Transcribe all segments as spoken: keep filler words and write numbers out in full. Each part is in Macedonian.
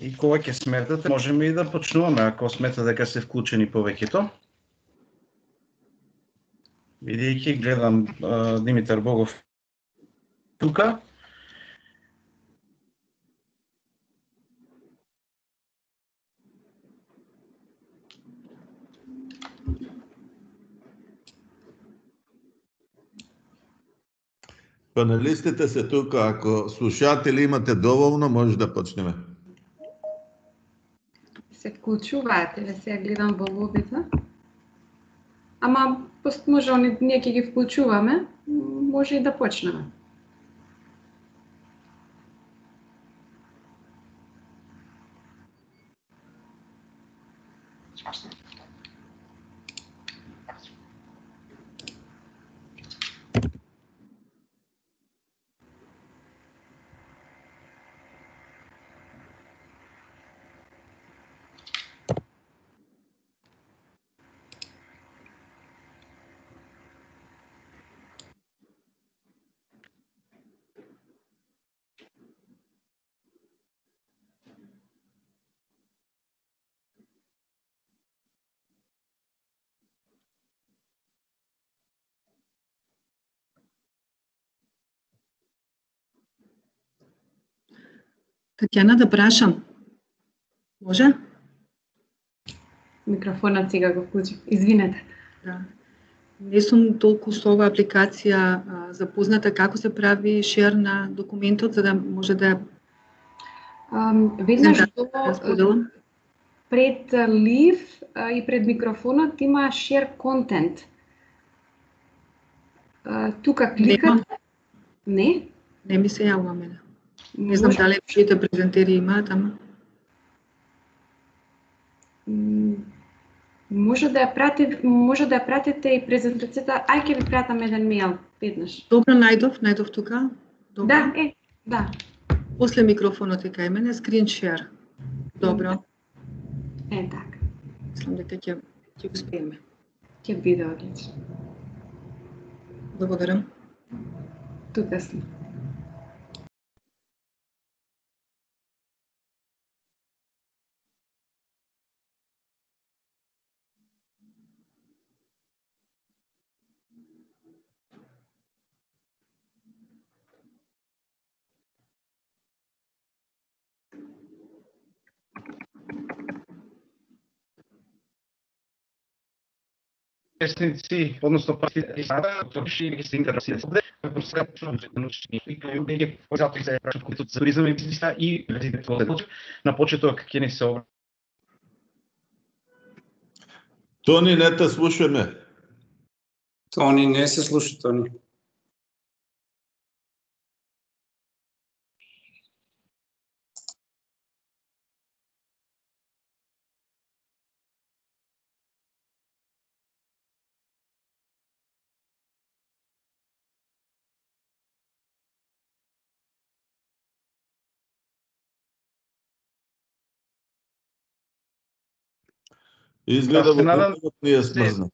И кога ќе сметате, можеме и да почнуваме, ако сметате дека се вклучени повеќето. Бидејќи гледам а, Димитар Богов тука. Панелистите се тука, ако слушатели имате доволно, може да почнеме. Се вклучуваат, или сега гледам во лобито. Ама, може, ние ќе ги вклучуваме, може и да почнеме. Татјана, да прашам. Може? Микрофонот сега го вклучив. Извинете. Да. Не сум толку со оваа апликација а, запозната како се прави шер на документот, за да може да Um, веднаш да, до да споделам. пред лив а, и пред микрофонот има share content. А, тука кликат. Не? Не ми се јавува мене. Не знам дали сите презентери имаат, ама може да ја пратите, може да ја пратите и презентацијата. Ај ќе ви пратам еден мејл веднаш. Добро, најдов, најдов тука. Добро. Да, е, да. После микрофонот е кај мене, screen share. Добро. Е, така. Мислам дека ќе ќе успееме. Ќе биде одлично. Благодарам. Тука сме. Учесници, односно партиципанти, што се интересираат како се научни и луѓе кои затоа се прашаат кои за туризам и бизниса и на почеток ќе ни се обра. Тони, не те слушаме. Тони, не се слуша, Тони. Изгледа Да, во компјутерот ни е смрзна.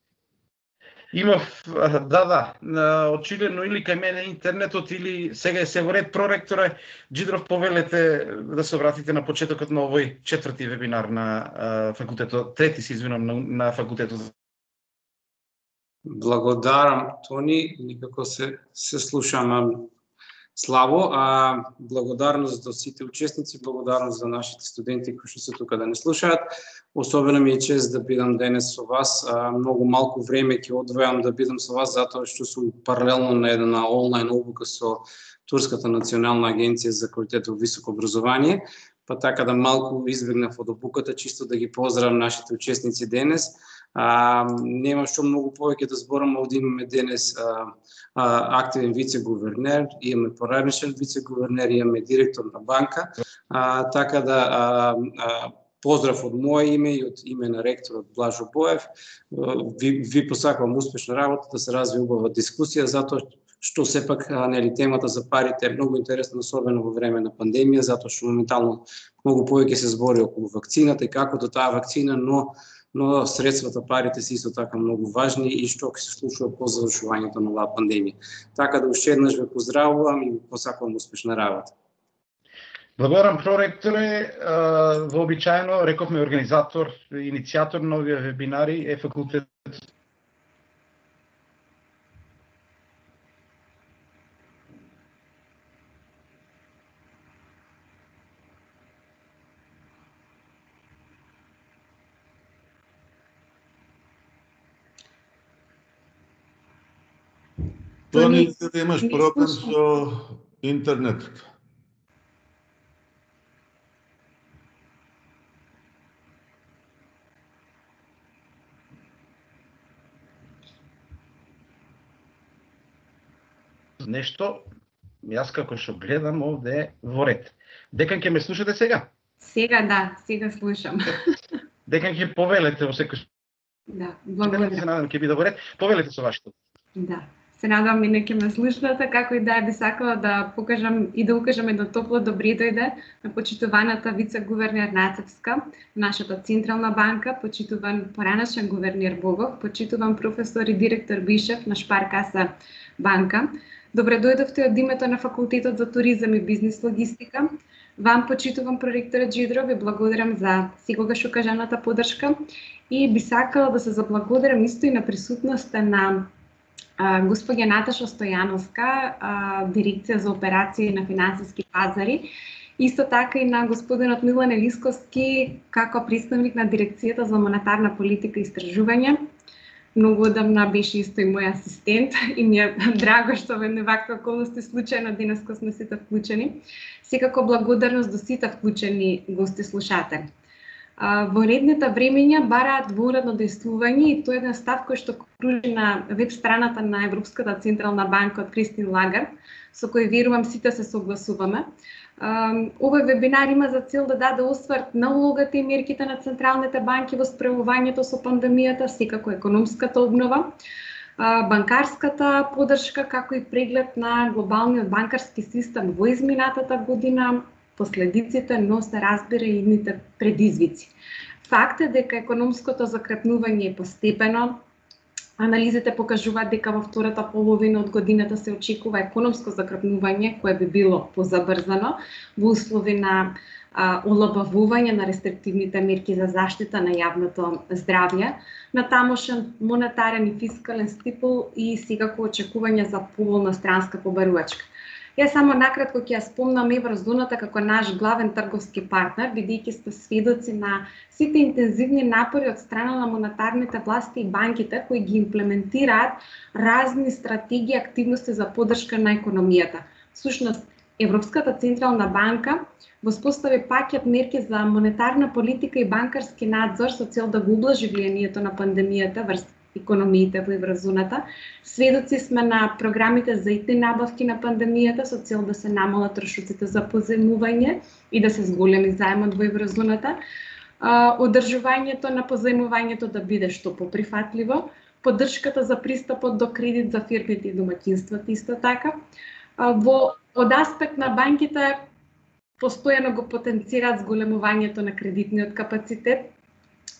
Имав, да, да, очигледно или кај мене интернетот или сега е се во ред проректоре, Джидров повелете да се обратите на почетокот на овој четврти вебинар на а, факултетот, трети се извинам, на, на факултетот. Благодарам, Тони, никако се се слушам слабо, а благодарност до сите учесници, благодарност за нашите студенти кои што се тука да не слушаат. Особено ми е чест да бидам денес со вас. А, многу малку време ќе одвојам да бидам со вас затоа што сум паралелно на една онлайн обука со Турската национална агенција за квалитет во високо образование, па така да малку избегнав од обуката, чисто да ги поздравам нашите учесници денес. А, нема што многу повеќе да зборам, овде имаме денес а, а, активен вице-гувернер, имаме поранешен вице-гувернер, имаме директор на банка, а, така да а, а, поздрав од моje име и од име на ректорот Блажо Боев. Ви, ви посакувам успешна работа, да се развие убава дискусија, затоа што сепак нели темата за парите е многу интересна, особено во време на пандемија, затоа што моментално многу повеќе се збори околу вакцината и како до таа вакцина, но но средствата, парите се исто така многу важни и што ќе се случува по завршувањето на оваа пандемија. Така да уште еднаш ве поздравувам и ви посакувам успешна работа. Благодарам, проректоре. Вообичаено, рековме организатор, иницијатор на овие вебинари е факултет. Тони, да имаш проблем со интернетот. Нешто, јас како што гледам овде во ред. Декан ќе ме слушате сега? Сега да, сега слушам. Декан ќе повелете во секој. Да, Се благодарам. надам ќе биде во ред. Повелете со вашето. Да. Се надам и неќе ме слушнате, како и да би сакала да покажам и да укажам едно топло добри дојде на почитуваната вице-гувернер Нацевска, нашата Централна банка, почитуван поранашен гувернер Богов, почитуван професор и директор Бишев на Шпаркаса банка. Добре дојдовте од името на Факултетот за туризам и бизнис логистика. Вам почитувам проректорот Джидров, ви благодарам за секогаш укажаната поддршка и би сакала да се заблагодарам исто и на присутноста на а, госпоѓа Наташа Стојановска, а, дирекција за операции на финансиски пазари, исто така и на господинот Милан Елисковски како представник на дирекцијата за монетарна политика и истражување. Многу одамна беше исто и мој асистент и ми е драго што во едни вакви околности случајно денеска сме сите вклучени. Секако благодарност до сите вклучени гости слушатели. Во редните времења бараат воуредно действување и тоа е еден став кој што кружи на веб страната на Европската Централна банка од Кристин Лагард, со кој верувам сите се согласуваме. Овој вебинар има за цел да даде осврт на улогата и мерките на централните банки во справувањето со пандемијата, секако економската обнова, банкарската поддршка, како и преглед на глобалниот банкарски систем во изминатата година, последиците, но се разбира и идните предизвици. Факт е дека економското закрепнување е постепено. Анализите покажуваат дека во втората половина од годината се очекува економско закрепнување кое би било позабрзано во услови на а, олабавување на рестриктивните мерки за заштита на јавното здравје, на тамошен монетарен и фискален стимул и секако очекување за поволна странска побарувачка. Јас само накратко ќе ја спомнам еврозоната како наш главен трговски партнер, бидејќи сте сведоци на сите интензивни напори од страна на монетарните власти и банките кои ги имплементираат разни стратегии и активности за поддршка на економијата. Всушност, Европската Централна банка воспостави пакет мерки за монетарна политика и банкарски надзор со цел да гоублажи влијанието на пандемијата врз економиите во еврозоната. Сведоци сме на програмите за ит набавки на пандемијата со цел да се намалат трошоците за позајмување и да се зголеми заемот во еврозоната. Одржувањето на позајмувањето да биде што поприфатливо, поддршката за пристапот до кредит за фирмите и домаќинствата исто така. Во од аспект на банките постојано го потенцираат зголемувањето на кредитниот капацитет,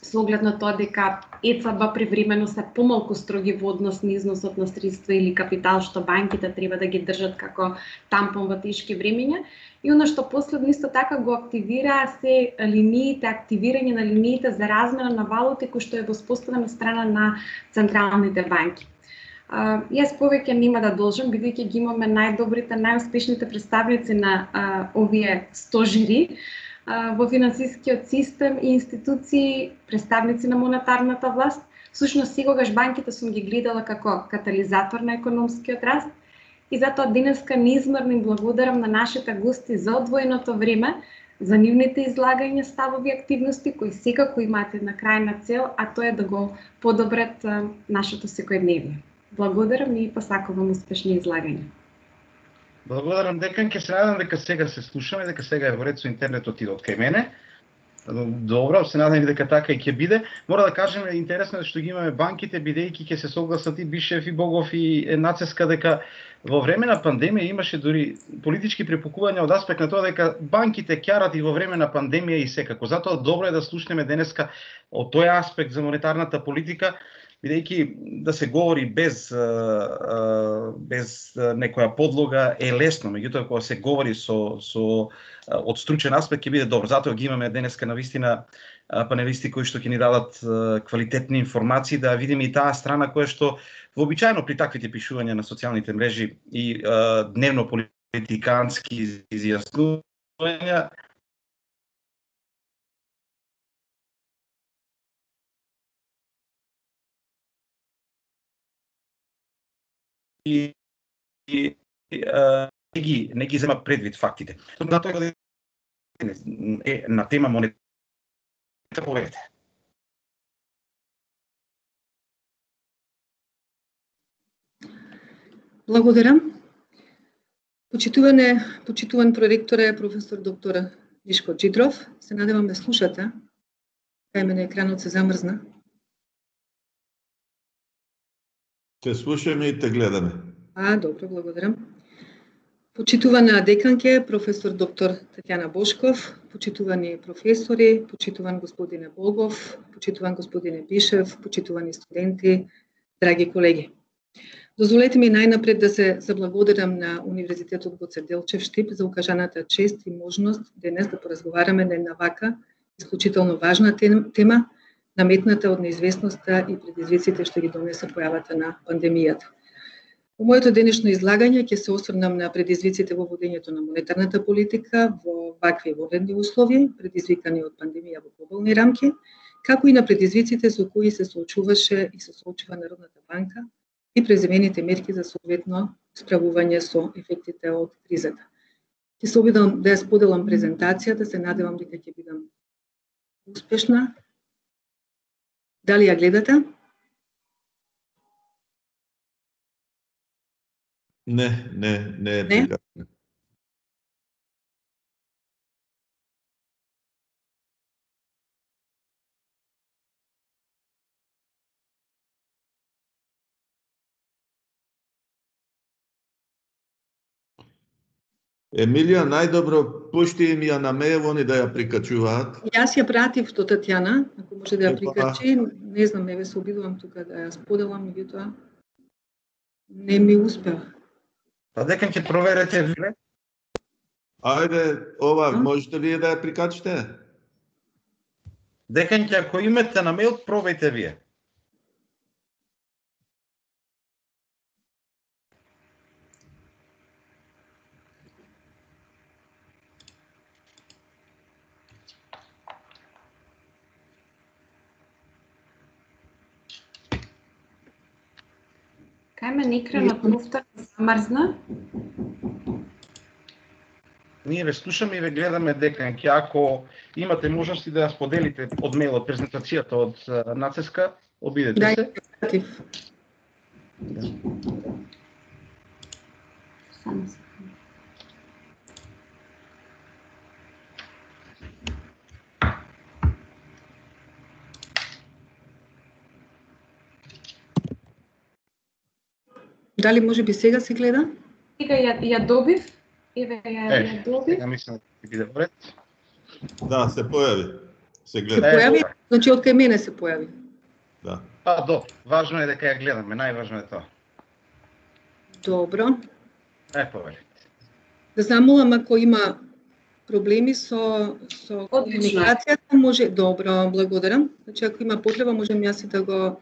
со оглед на тоа дека е це бе привремено се помалку строги во однос на износот на средства или капитал што банките треба да ги држат како тампон во тешки времења. И оно што последно исто така го активира се линиите, активирање на линиите за размена на валути кој што е воспоставена страна на централните банки. Uh, јас повеќе нема да должам, бидејќи ги имаме најдобрите, најуспешните представници на uh, овие стожери uh, во финансискиот систем и институции, представници на монетарната власт. Всушност, секогаш банките сум ги гледала како катализатор на економскиот раст и затоа денеска неизмерно им благодарам на нашите гости за одвоеното време, за нивните излагања, ставови активности кои секако имаат една крајна цел, а тоа е да го подобрат uh, нашето секојдневие. Благодарам и посакувам успешни излагања. Благодарам, декан, ќе се надам дека сега се слушаме, дека сега е во ред со интернетот и од кај мене. Добро, се надам дека така и ќе биде. Мора да кажем, интересно е што ги имаме банките, бидејќи ќе се согласат и Бишев и Богов и Нацевска дека во време на пандемија имаше дури политички препукувања од аспект на тоа дека банките ќарат и во време на пандемија и секако. Затоа добро е да слушнеме денеска од тој аспект за монетарната политика, бидејќи да се говори без без некоја подлога е лесно, меѓутоа кога се говори со со од стручен аспект ќе биде добро. Затоа ги имаме денеска навистина панелисти кои што ќе ни дадат квалитетни информации, да видиме и таа страна која што вообичаено при таквите пишувања на социјалните мрежи и дневно политикански изјаснувања и, и а, не ги не ги зема предвид фактите. На тоа е на тема монета поверите. Благодарам. Почитуване, почитуван проректоре професор доктор Мишко Џидров, се надевам да слушате. Кај мене екранот се замрзна. Те слушаме и те гледаме. А, добро, благодарам. Почитувана деканке, професор доктор Татјана Бошков, почитувани професори, почитуван господине Богов, почитуван господине Бишев, почитувани студенти, драги колеги. Дозволете ми најнапред да се заблагодарам на Универзитетот Гоце Делчев Штип за укажаната чест и можност денес да поразговараме на една вака исклучително важна тема, наметната од неизвестноста и предизвиците што ги донесе појавата на пандемијата. Во моето денешно излагање ќе се осврнам на предизвиците во водењето на монетарната политика во вакви водени услови, предизвикани од пандемија во глобални рамки, како и на предизвиците со кои се соочуваше и се соочува Народната банка и преземените мерки за соодветно справување со ефектите од кризата. Ќе се обидам да ја споделам презентацијата, се надевам дека ќе бидам успешна. Дали ја гледате? Не, не, не е Не? прикачено. Емилија, најдобро пушти им ја на мејл, они да ја прикачуваат. Јас ја пратив до Татјана, ако може да ја Епа. прикачи. Не знам, еве се обидувам тука да ја споделам, меѓутоа не ми успеа. Па дека ќе проверете вие? Ајде, ова, А? можете вие да ја прикачите? Деканќе, ако имате на мејл, пробајте вие. Кај мене екранот повторно замрзна. Ние ве слушаме и ве гледаме, деканќе. Ако имате можности да ја споделите од мејлот презентацијата од а, нацеска, обидете Да, се. ја пратив. Само секунда. Дали може би сега се гледа? Сега ја, ја добив. Еве ја, Е, ја добив. сега мислам да ќе биде вред. Да, се појави. Се Се гледа. Е, појави? добро. Значи од кај мене се појави. Да. Па, до, важно е дека ја гледаме, најважно е тоа. Добро. Е, повели. Да замолам ако има проблеми со со Одлично. комуникацијата, може добро, благодарам. Значи ако има потреба можам јас и да го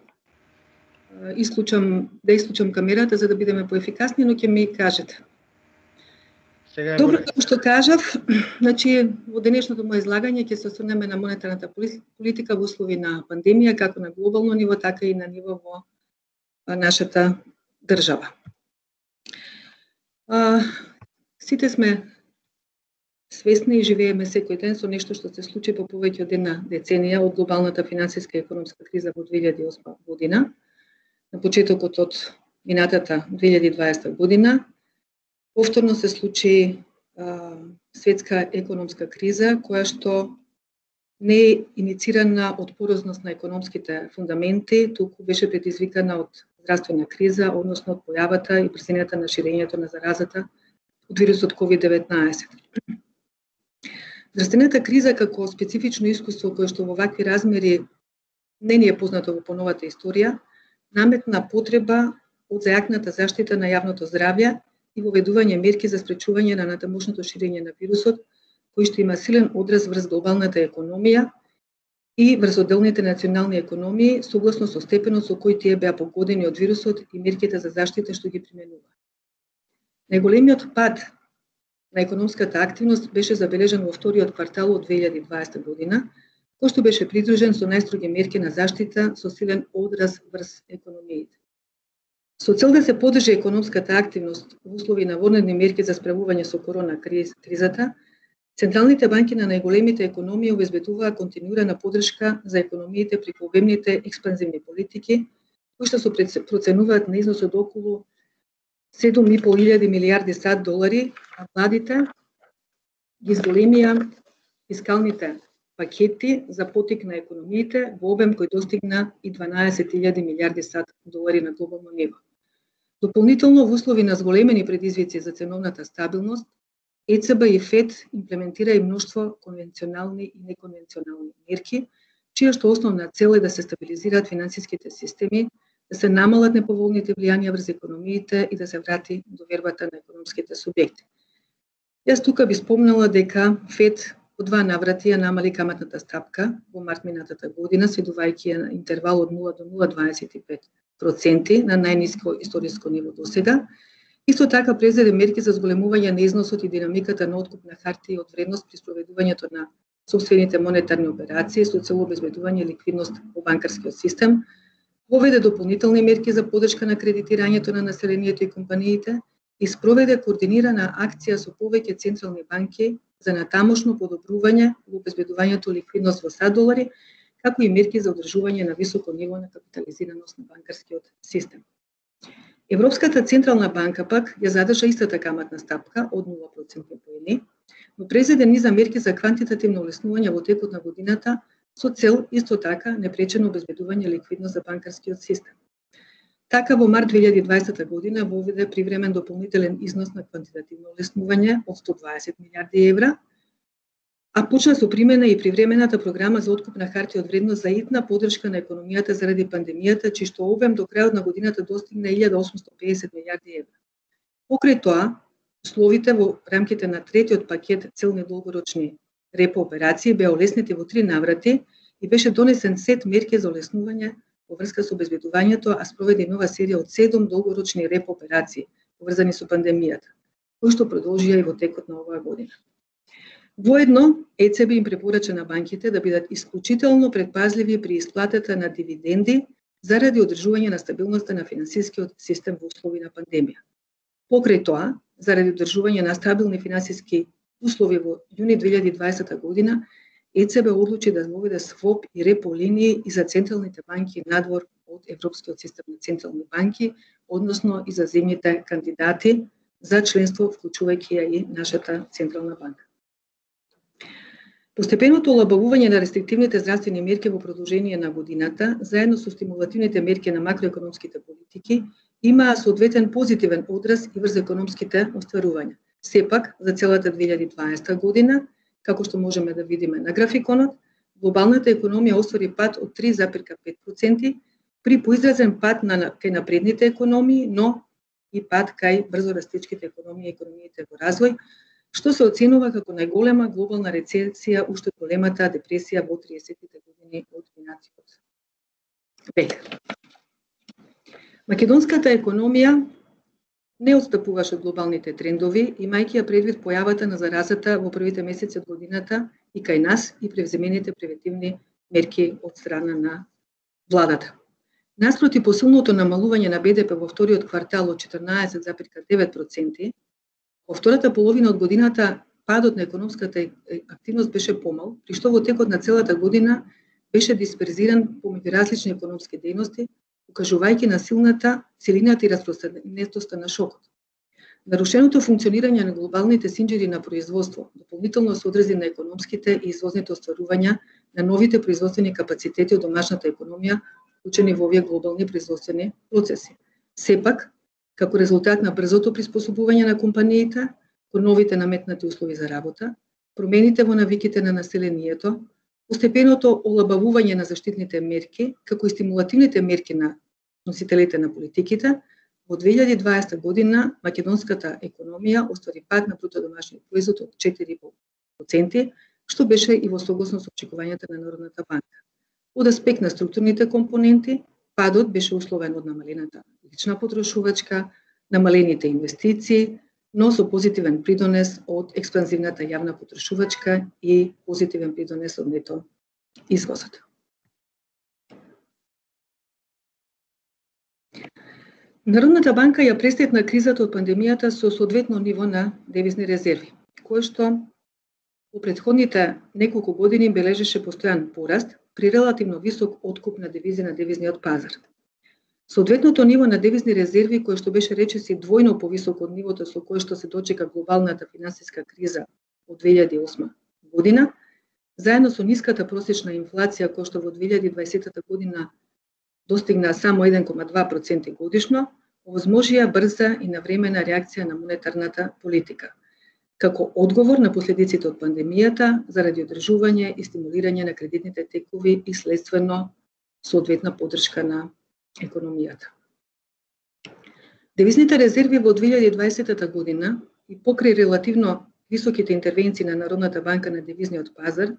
е, исклучам, да исклучам камерата за да бидеме поефикасни, но ќе ми кажете. Сега е Добро, во ред. како што кажав, значи во денешното моје излагање ќе се осврнеме на монетарната поли- политика во услови на пандемија, како на глобално ниво, така и на ниво во а, нашата држава. А, сите сме свесни и живееме секој ден со нешто што се случи по повеќе од една деценија од глобалната финансиска и економска криза во две илјади и осма година, на почетокот од минатата две илјади и дваесета година. Повторно се случи а, светска економска криза, која што не е иницирана од порозност на економските фундаменти, туку беше предизвикана од здравствена криза, односно од појавата и брзината на ширењето на заразата од вирусот ковид деветнаесет. Здравствената криза како специфично искуство кое што во вакви размери не ни е познато во поновата историја, наметна потреба од зајакната заштита на јавното здравје и воведување мерки за спречување на натамошното ширење на вирусот, кој што има силен одраз врз глобалната економија и врз отделните национални економии, согласно со степенот со кој тие беа погодени од вирусот и мерките за заштита што ги применува. Најголемиот пад на економската активност беше забележан во вториот квартал од две илјади и дваесета година, кој што беше придружен со најстроги мерки на заштита со силен одраз врз економиите. Со цел да се подржи економската активност во услови на вонредни мерки за справување со корона кризата, централните банки на најголемите економии обезбедуваа континуирана поддршка за економиите преку обемните експанзивни политики, кои што се проценуваат на износ од околу седум и пол илјади милијарди сад долари, а владите ги зголемија фискалните пакети за потик на економиите во обем кој достигна и дванаесет илјади милијарди сад долари на глобално ниво. Дополнително, во услови на зголемени предизвици за ценовната стабилност, Е Це Бе и Фед имплементира и мноштво конвенционални и неконвенционални мерки, чија што основна цел е да се стабилизираат финансиските системи, да се намалат неповолните влијанија врз економиите и да се врати довербата на економските субјекти. Јас тука би спомнала дека Фед по два наврати ја намали каматната стапка во март минатата година, следувајќи ја на интервал од нула до нула целу дваесет и пет проценти на најниско историско ниво досега. Исто така презеде мерки за зголемување на износот и динамиката на откуп на хартии од вредност при спроведувањето на собствените монетарни операции со цел обезбедување ликвидност во банкарскиот систем, воведе дополнителни мерки за поддршка на кредитирањето на населението и компаниите и спроведе координирана акција со повеќе централни банки за натамошно подобрување во обезбедувањето ликвидност во сад долари, како и мерки за одржување на високо ниво на капитализираност на банкарскиот систем. Европската централна банка пак ја задржа истата каматна стапка од нула проценти поени, но презеде низа мерки за квантитативно олеснување во текот на годината со цел исто така непречено обезбедување ликвидност за банкарскиот систем. Така во март две илјади и дваесета година воведе привремен дополнителен износ на квантитативно олеснување од сто дваесет милијарди евра, а почна со примена и привремената програма за откуп на хартии од вредност за итна поддршка на економијата заради пандемијата, чиј што обем до крајот на годината достигна илјада осумстотини и педесет милијарди евра. Покрај тоа, условите во рамките на третиот пакет целни долгорочни репо операции беа олеснети во три наврати и беше донесен сет мерки за олеснување во врска со обезбедувањето, а спроведе нова серија од седум долгорочни репо операции поврзани со пандемијата, кои што продолжија и во текот на оваа година. Воедно, Е Це Бе им препорача на банките да бидат исклучително предпазливи при исплатата на дивиденди заради одржување на стабилноста на финансискиот систем во услови на пандемија. Покрај тоа, заради одржување на стабилни финансиски услови во јуни две илјади и дваесета година, Е Це Бе одлучи да воведе своп и репо линии и за централните банки надвор од Европскиот систем на централни банки, односно и за земјите кандидати за членство, вклучувајќи ја и нашата централна банка. Постепеното олабавување на рестриктивните здравствени мерки во продолжение на годината, заедно со стимулативните мерки на макроекономските политики, имаа соодветен позитивен одраз и врз економските остварувања. Сепак, за целата две илјади и дваесета година, како што можеме да видиме на графиконот, глобалната економија оствари пад од три зарез пет проценти, при поизразен пад на кај напредните економии, но и пад кај брзо растечките економии и економиите во развој, што се оценува како најголема глобална рецесија уште од големата депресија во триесеттите години од минатиот век. Македонската економија не отстапуваше од глобалните трендови, имајќи ја предвид појавата на заразата во првите месеци од годината и кај нас и превземените превентивни мерки од страна на владата. Наспроти посилното намалување на Б Д П во вториот квартал од четрнаесет зарез девет проценти, во втората половина од годината падот на економската активност беше помал, при што во текот на целата година беше дисперзиран помеѓу различни економски дејности, укажувајќи на силната силината и распространетоста на шокот. Нарушеното функционирање на глобалните синџири на производство дополнително се одрази на економските и извозните остварувања на новите производствени капацитети од домашната економија, вклучени во овие глобални производствени процеси. Сепак, како резултат на брзото приспособување на компаниите кон новите наметнати услови за работа, промените во навиките на населението, постепеното олабавување на заштитните мерки, како и стимулативните мерки на носителите на политиките, во две илјади и дваесета година македонската економија оствари пад на бруто домашниот производ од четири и пол проценти, што беше и во согласно со очекувањата на Народната банка. Од аспект на структурните компоненти, падот беше условен од намалената лична потрошувачка, намалените инвестиции, но со позитивен придонес од експанзивната јавна потрошувачка и позитивен придонес од нето извозот. Народната банка ја престетна кризата од пандемијата со соодветно ниво на девизни резерви, кое што во претходните неколку години бележеше постојан пораст при релативно висок откуп на девизи на девизниот пазар. Соодветното ниво на девизни резерви, кое што беше речиси двојно повисоко од нивото со кое што се дочека глобалната финансиска криза од две илјади и осма година, заедно со ниската просечна инфлација која што во две илјади и дваесета година достигна само еден кoma два проценти годишно, овозможија брза и навремена реакција на монетарната политика, како одговор на последиците од пандемијата заради одржување и стимулирање на кредитните текови и следствено соодветна поддршка на економијата. Девизните резерви во две илјади и дваесета година и покрај релативно високите интервенции на Народната банка на девизниот пазар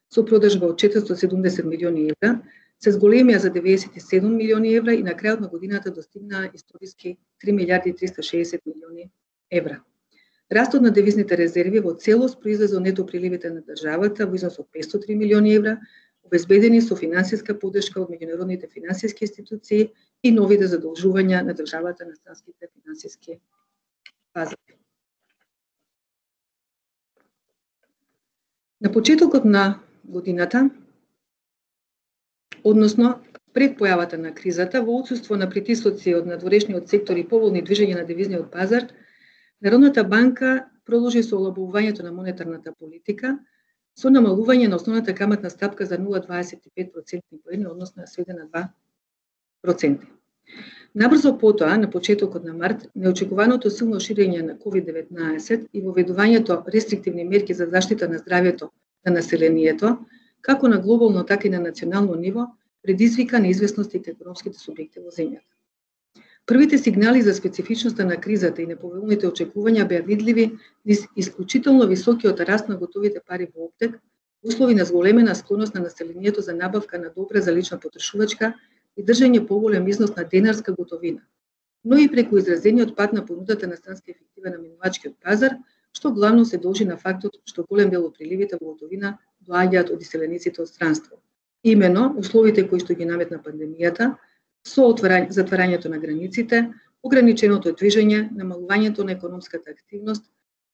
со продажба од четиристотини и седумдесет милиони евра, се зголемија за деветдесет и седум милиони евра и на крајот на годината достигнаа историски три милијарди и триста и шеесет милиони евра. Растот на девизните резерви во целост произлезе од нето приливите на државата во износ од петстотини и три милиони евра, обезбедени со финансиска поддршка од меѓународните финансиски институции и новите задолжувања на државата на странските финансиски пазари. На почетокот на годината, односно пред појавата на кризата, во отсуство на притисоци од надворешниот сектор и поволни движења на девизниот пазар, Народната банка продолжи со олабавувањето на монетарната политика со намалување на основната каматна стапка за нула зарез дваесет и пет процентни поени, односно сведе на два проценти. Набрзо потоа, на почетокот на март, неочекуваното силно ширење на ковид деветнаесет и воведувањето рестриктивни мерки за заштита на здравјето на населението, како на глобално, така и на национално ниво, предизвика неизвестности кај економските субјекти во земјата. Првите сигнали за специфичноста на кризата и неповолните очекувања беа видливи низ исклучително високиот раст на готовите пари во оптек, услови на зголемена склоност на населението за набавка на добра за лична потрошувачка и држање поголем износ на денарска готовина, но и преку изразениот пат на понудата на странски ефективен наминувачкиот пазар, што главно се должи на фактот што голем дел од приливите во готовина доаѓаат од иселениците од странство. Имено, условите кои што ги наметна пандемијата, со отварање, затварањето на границите, ограниченото движење, намалувањето на економската активност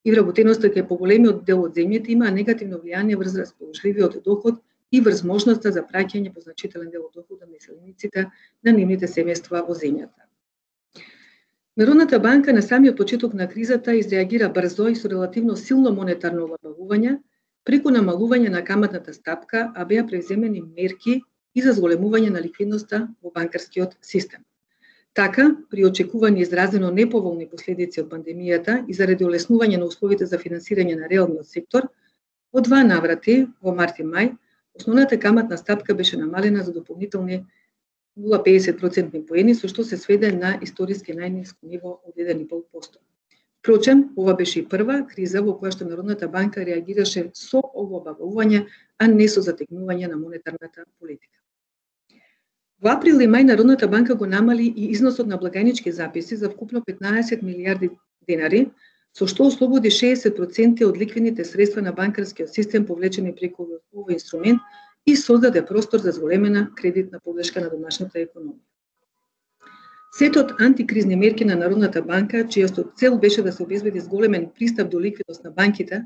и вработеноста кај поголемиот дел од земјите има негативно влијание врз расположливиот доход и врз можноста за праќање по значителен дел од доходот на иселениците на нивните семејства во земјата. Народната банка на самиот почеток на кризата изреагира брзо и со релативно силно монетарно олабавување преку намалување на каматната стапка, а беа превземени мерки и за зголемување на ликвидноста во банкарскиот систем. Така, при очекувани изразено неповолни последици од пандемијата и заради олеснување на условите за финансирање на реалниот сектор, во два наврати, во март и мај, основната каматна стапка беше намалена за дополнителни нула зарез педесет процентни поени, со што се сведе на историски најниско ниво од еден и пол проценти. Впрочем, ова беше и прва криза во која што Народната банка реагираше со олабавување, а не со затегнување на монетарната политика. Во април и мај Народната банка го намали и износот на благајнички записи за вкупно петнаесет милијарди денари, со што ослободи шеесет проценти од ликвидните средства на банкарскиот систем повлечени преку овој инструмент и создаде простор за зголемена кредитна поддршка на домашната економија. Сетот антикризни мерки на Народната банка, чијата цел беше да се обезбеди зголемен пристап до ликвидност на банките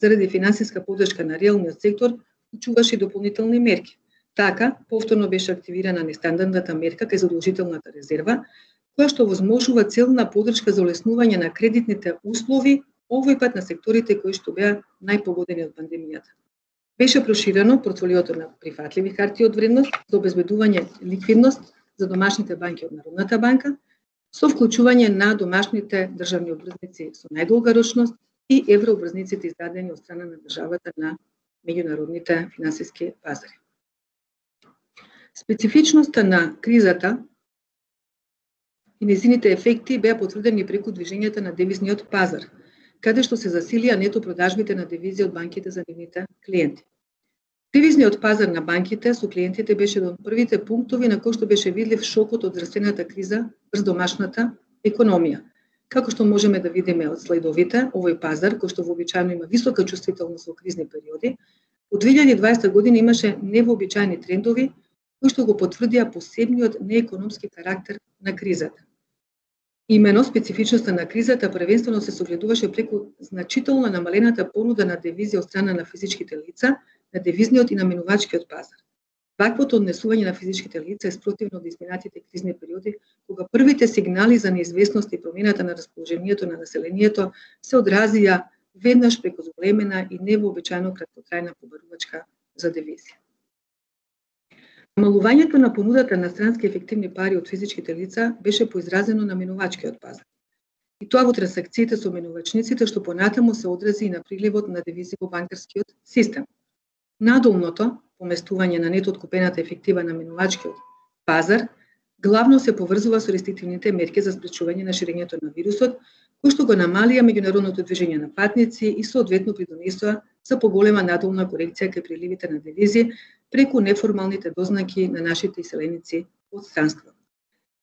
заради финансиска поддршка на реалниот сектор, вклучуваше дополнителни мерки. Така, повторно беше активирана нестандардната мерка кај задолжителната резерва, која што возможува целна поддршка за олеснување на кредитните услови, овој пат на секторите кои што беа најпогодени од пандемијата. Беше проширено портфолиото на прифатливи харти од вредност за обезбедување ликвидност за домашните банки од Народната банка, со вклучување на домашните државни обврзници со најдолга рочност и еврообврзниците издадени од страна на државата на меѓународните финансиски пазари. Специфичноста на кризата и незините ефекти беа потврдени преку движењето на девизниот пазар, каде што се засилија нето продажбите на девизи од банките за нивните клиенти. Девизниот пазар на банките со клиентите беше еден од првите пунктови на кој што беше видлив шокот од здравствената криза врз домашната економија. Како што можеме да видиме од слайдовите, овој пазар, кој што вообичаено има висока чувствителност во кризни периоди, од две илјади и дваесета година имаше невообичаени трендови кои што го потврдија посебниот неекономски карактер на кризата. Имено специфичноста на кризата првенствено се согледуваше преку значително намалената понуда на девизи од страна на физичките лица, на девизниот и наменувачкиот пазар. Ваквото однесување на физичките лица е спротивно од изминатите кризни периоди, кога првите сигнали за неизвестност и промената на расположението на населението се одразија веднаш преку зголемена и невообичаено краткотрајна побарувачка за девизи. Намалувањето на понудата на странски ефективни пари од физичките лица беше поизразено на менувачкиот пазар. И тоа во трансакциите со менувачниците, што понатаму се одрази и на приливот на девизи во банкарскиот систем. Надолното поместување на нето откупената ефектива на менувачкиот пазар главно се поврзува со рестриктивните мерки за спречување на ширењето на вирусот, кои што го намалија меѓународното движење на патници и соодветно придонесоа за поголема надолна корекција кај приливите на девизи преку неформалните дознаки на нашите иселеници од странство.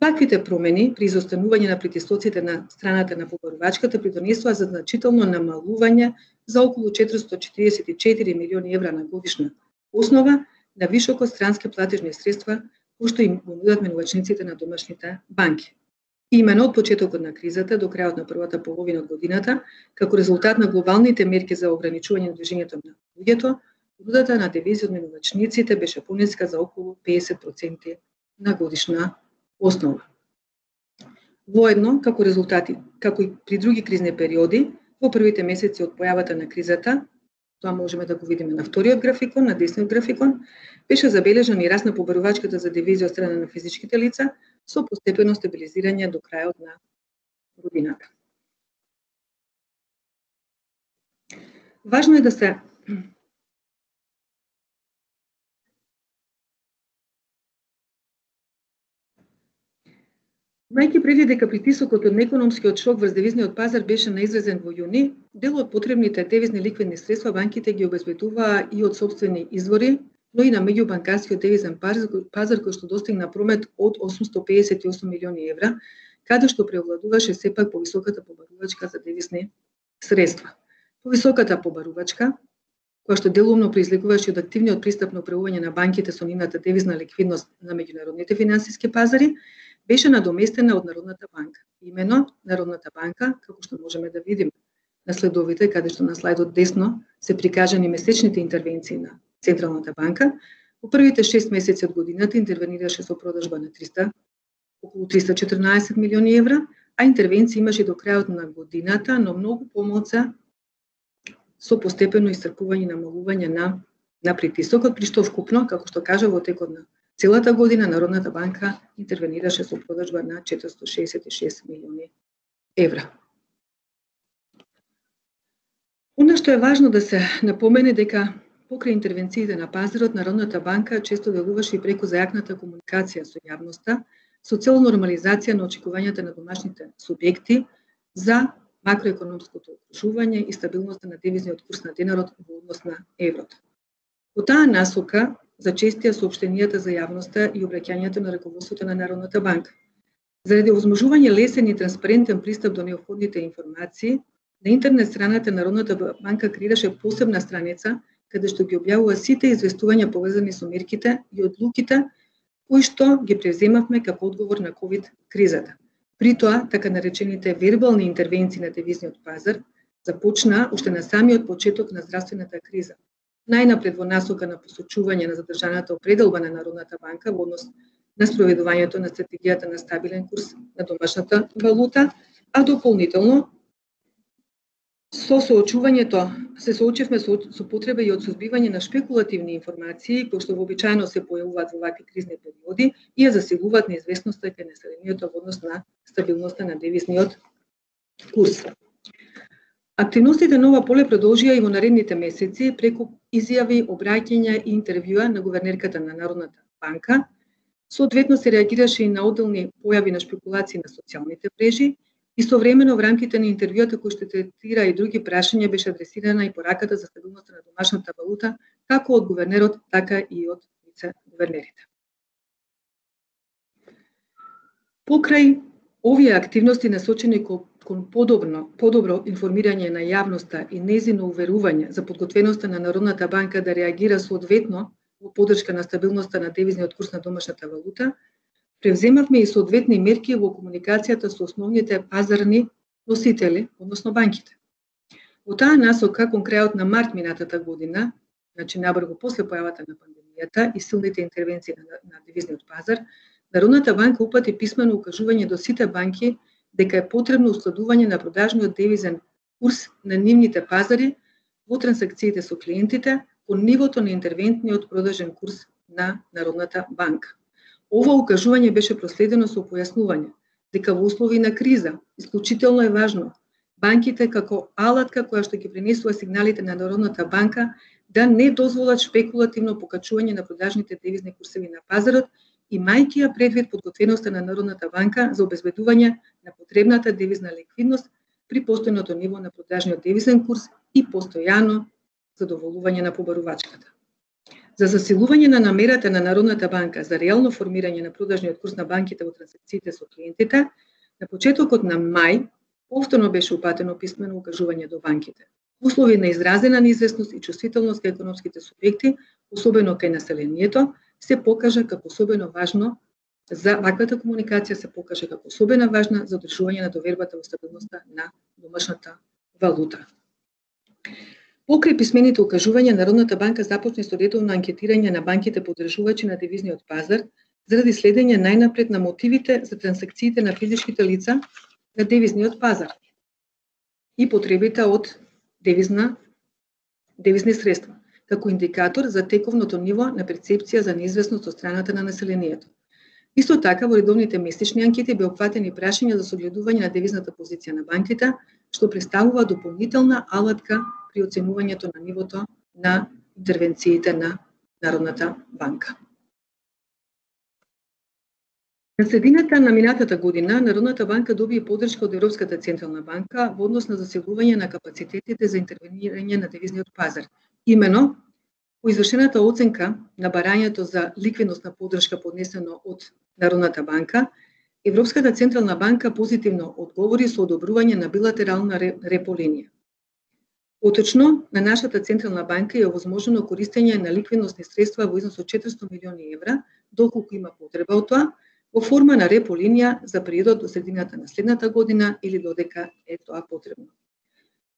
Ваквите промени при изостанување на притисоците на страната на побарувачката придонесоа за значително намалување за околу четиристотини четиридесет и четири милиони евра на годишна основа на вишоко странски платежни средства кои што им го нудат менувачниците на домашните банки. Имено од почетокот на кризата до крајот на првата половина од годината, како резултат на глобалните мерки за ограничување на движењето на луѓето, понудата на девизи од менувачниците беше пониска за околу педесет проценти на годишна основа. Воедно, како резултати, како и при други кризни периоди, во првите месеци од појавата на кризата, тоа можеме да го видиме на вториот графикон, на десниот графикон, беше забележан и раст на побарувачката за девизи од страна на физичките лица со постепено стабилизирање до крајот на годината. Важно е да се Мајки преди дека притисокот од неекономскиот шок врз девизниот пазар беше наизразен во јуни, дел од потребните девизни ликвидни средства банките ги обезбедуваа и од сопствени извори, но и на меѓубанкарскиот девизен пазар кој што достигна промет од осумстотини педесет и осум милиони евра, каде што преовладуваше сепак повисоката побарувачка за девизни средства. Повисоката побарувачка, која што делумно произлегуваше од активниот пристап на управување на банките со нивната девизна ликвидност на меѓународните финансиски пазари, беше надоместена од Народната банка. Имено Народната банка, како што можеме да видиме на следовите, каде што на слайдот десно се прикажани месечните интервенции на Централната банка, во првите шест месеци од годината интервенираше со продажба на триста, околу триста и четрнаесет милиони евра, а интервенции имаше до крајот на годината, но многу помалку со постепено исцрпување и намалување на, на притисокот, при што вкупно, како што кажа, во текот на целата година Народната банка интервенираше со продажба на четиристотини шеесет и шест милиони евра. Оно што е важно да се напомене дека покрај интервенциите на пазарот, Народната банка често делуваше и преку зајакната комуникација со јавноста, со цел нормализација на очекувањата на домашните субјекти за макроекономското окружување и стабилноста на девизниот курс на денарот во однос на еврото. Во таа насока зачестија соопштенијата за јавноста и обраќањето на раководството на Народната банка. Заради овозможување лесен и транспарентен пристап до неопходните информации, на интернет страната Народната банка креираше посебна страница каде што ги објавува сите известувања повезани со мерките и одлуките кои што ги превземавме како одговор на ковид кризата. При тоа, така наречените вербални интервенции на девизниот пазар започнаа уште на самиот почеток на здравствената криза. Најнапред во насока на посочување на задржаната определба на Народната банка во однос на спроведувањето на стратегијата на стабилен курс на домашната валута, а дополнително со соочувањето се соочивме со, со потреба и од сузбивање на шпекулативни информации кои што вообичаено се појавуваат во вакви кризни периоди и ја засилуваат неизвестноста кај населението во однос на стабилноста на девизниот курс. Активностите на ова поле продолжија и во наредните месеци преку изјави, обраќања и интервјуа на гувернерката на Народната банка, Соодветно се реагираше и на одделни појави на шпекулации на социјалните мрежи. Истовремено, во рамките на интервјуата кој што третира и други прашања, беше адресирана и пораката за стабилноста на домашната валута, како од гувернерот, така и од вице-гувернерите. Покрај овие активности насочени кон подобно, подобро информирање на јавноста и нејзино уверување за подготвеноста на Народната банка да реагира соодветно во поддршка на стабилноста на девизниот курс на домашната валута, превземавме и соодветни мерки во комуникацијата со основните пазарни носители, односно банките. Во таа насока, кон крајот на март минатата година, значи набрзо после појавата на пандемијата и силните интервенции на, на девизниот пазар, Народната банка упати писмено укажување до сите банки дека е потребно ускладување на продажниот девизен курс на нивните пазари во трансакциите со клиентите по нивото на интервентниот продажен курс на Народната банка. Ова укажување беше проследено со појаснување дека во услови на криза исклучително е важно банките како алатка која што ги пренесува сигналите на Народната банка да не дозволат шпекулативно покачување на продажните девизни курсеви на пазарот, имајќи ја предвид подготвеноста на Народната банка за обезбедување на потребната девизна ликвидност при постојното ниво на продажниот девизен курс и постојано задоволување на побарувачката. За засилување на намерата на Народната банка за реално формирање на продажниот курс на банките во трансакциите со клиентите, на почетокот на мај повторно беше упатено писмено укажување до банките. В услови на изразена неизвестност и чувствителност кај економските субјекти, особено кај населението, се покажа како особено важно за ваквата комуникација се покаже како особено важна за одржување на довербата во стабилноста на домашната валута. Покрај писмените укажувања, Народната банка започне со редовно анкетирање на банките поддржувачи на девизниот пазар заради следење најнапред на мотивите за трансакциите на физичките лица на девизниот пазар и потребите од девизна девизни средства, како индикатор за тековното ниво на перцепција за неизвестност од страната на населението. Исто така, во редовните месечни анкети бе опфатени прашања за согледување на девизната позиција на банките, што представува дополнителна алатка при оценувањето на нивото на интервенциите на Народната банка. На средината на минатата година, Народната банка доби поддршка од Европската централна банка во однос на засилување на капацитетите за интервенирање на девизниот пазар. Имено, по извршената оценка на барањето за ликвидносна поддршка поднесено од Народната банка, Европската централна банка позитивно одговори со одобрување на билатерална репо линија. Поточно, на нашата централна банка е овозможено користење на ликвидносни средства во износ од четиристо милиони евра, доколку има потреба од тоа, во форма на репо линија за периодот до средината на следната година или додека е тоа потребно.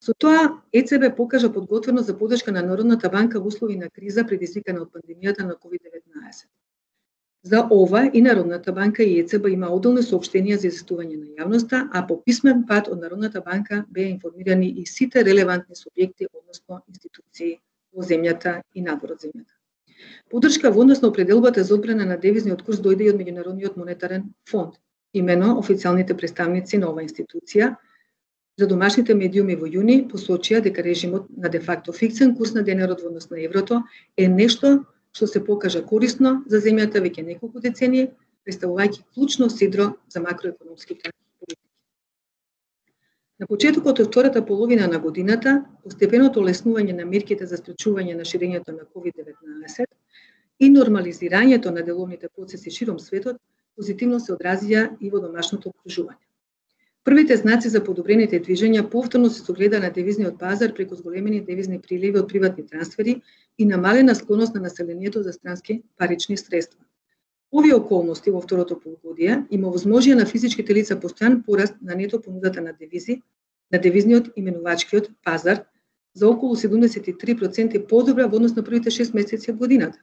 Со тоа, Е Це Бе покажа подготвеност за поддршка на Народната банка во услови на криза предизвикана од пандемијата на ковид деветнаесет. За ова и Народната банка и Е Це Бе има одделни соопштенија за известување на јавноста, а по писмен пат од Народната банка беа информирани и сите релевантни субјекти, односно институции во земјата и надвор од земјата. Поддршка во однос на определбата за одбрана на девизниот курс дојде и од Меѓународниот монетарен фонд. Имено, официјалните представници на оваа институција за домашните медиуми во јуни посочија дека режимот на де-факто фиксен курс на денарот во однос на еврото е нешто што се покажа корисно за земјата веќе неколку децении, представувајќи клучно сидро за макроекономските политики. На почетокот од втората половина на годината, постепеното олеснување на мерките за спречување на ширењето на ковид деветнаесет и нормализирањето на деловните процеси широм светот позитивно се одразија и во домашното окружување. Првите знаци за подобрените движења повторно се согледа на девизниот пазар преку зголемени девизни приливи од приватни трансфери и намалена склоност на населението за странски парични средства. Овие околности во второто полугодие има возможија на физичките лица постојан пораст на нето понудата на девизи, на девизниот именувачкиот пазар за околу седумдесет и три проценти подобра во однос на првите шест месеци од годината.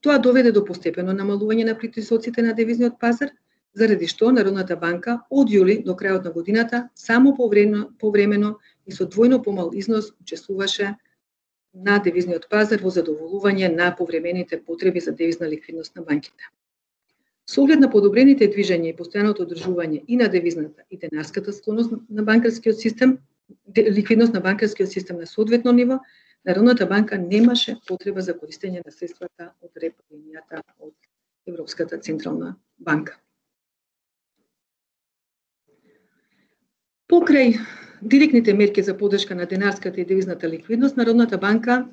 Тоа доведе до постепено намалување на притисоците на девизниот пазар, заради што Народната банка од јули до крајот на годината само повремено, повремено и со двојно помал износ учествуваше на девизниот пазар во задоволување на повремените потреби за девизна ликвидност на банките. Со оглед на подобрените движења и постојаното одржување и на девизната и денарската склоност на банкарскиот систем, ликвидност на банкарскиот систем на соодветно ниво, Народната банка немаше потреба за користење на средствата од репо линијата од Европската централна банка. Покрај директните мерки за поддршка на денарската и девизната ликвидност, Народната банка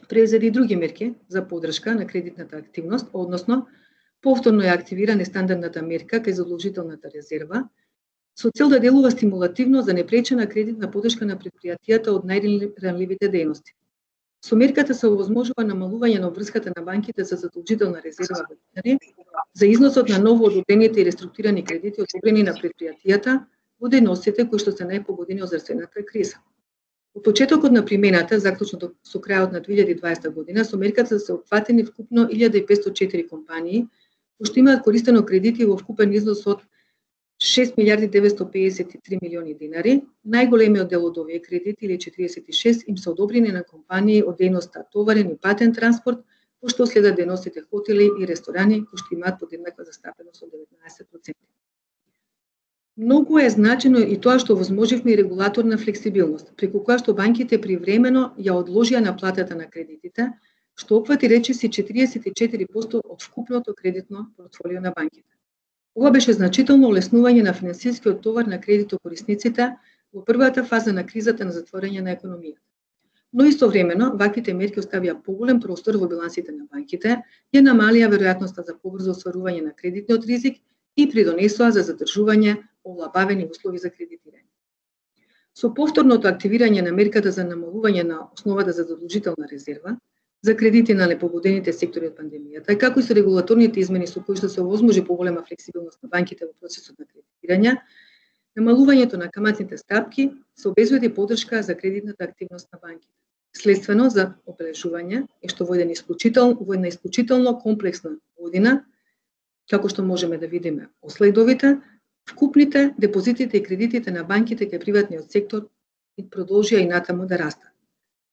превзеде и други мерки за поддршка на кредитната активност, односно повторно ја активира нестандардната мерка кај задолжителната резерва, со цел да делува стимулативно за непречена кредитна поддршка на предпријатијата од најранливите дејности. Со мерката се овозможува намалување на обврската на банките за задолжителна резерва во динари за износот на ново одобрените и реструктурирани кредити одобрени на предпријатијата во дејностите кои што се најпогодени од здравствената криза. Од почетокот на примената, заклучно со крајот на две илјади и дваесета година, со мерката се опфатени вкупно илјада и петстотини и четири компании, кои што имаат користено кредити во вкупен износ од шест милијарди деветстотини педесет и три милиони динари. Најголемиот дел од овие кредити, или четириесет и шест, им се одобрени на компании од дејноста товарен и патен транспорт, кои што следат дејностите хотели и ресторани, кои што имаат подеднаква застапеност од деветнаесет проценти. Многу е значено и тоа што возможивме и регулаторна флексибилност, преку која што банките привремено ја одложија наплатата на кредитите, што опфати речиси четириесет и четири проценти од вкупното кредитно портфолио на банките. Ова беше значително олеснување на финансискиот товар на кредитокорисниците во првата фаза на кризата на затворање на економијата. Но истовремено, ваквите мерки оставија поголем простор во билансите на банките, ја намалија веројатноста за побрзо остварување на кредитниот ризик и придонесоа за задржување олабавени услови за кредитирање. Со повторното активирање на мерката за намалување на основата за задолжителна резерва, за кредити на непогодените сектори од пандемијата, како и со регулаторните измени со кои што се овозможи поголема флексибилност на банките во процесот на кредитирање, намалувањето на каматните стапки се обезбеди поддршка за кредитната активност на банките. Следствено за обележување е што во една исклучително, во една исклучително комплексна година, како што можеме да видиме од слайдовите, вкупните депозитите и кредитите на банките кај приватниот сектор продолжија и натаму да растат.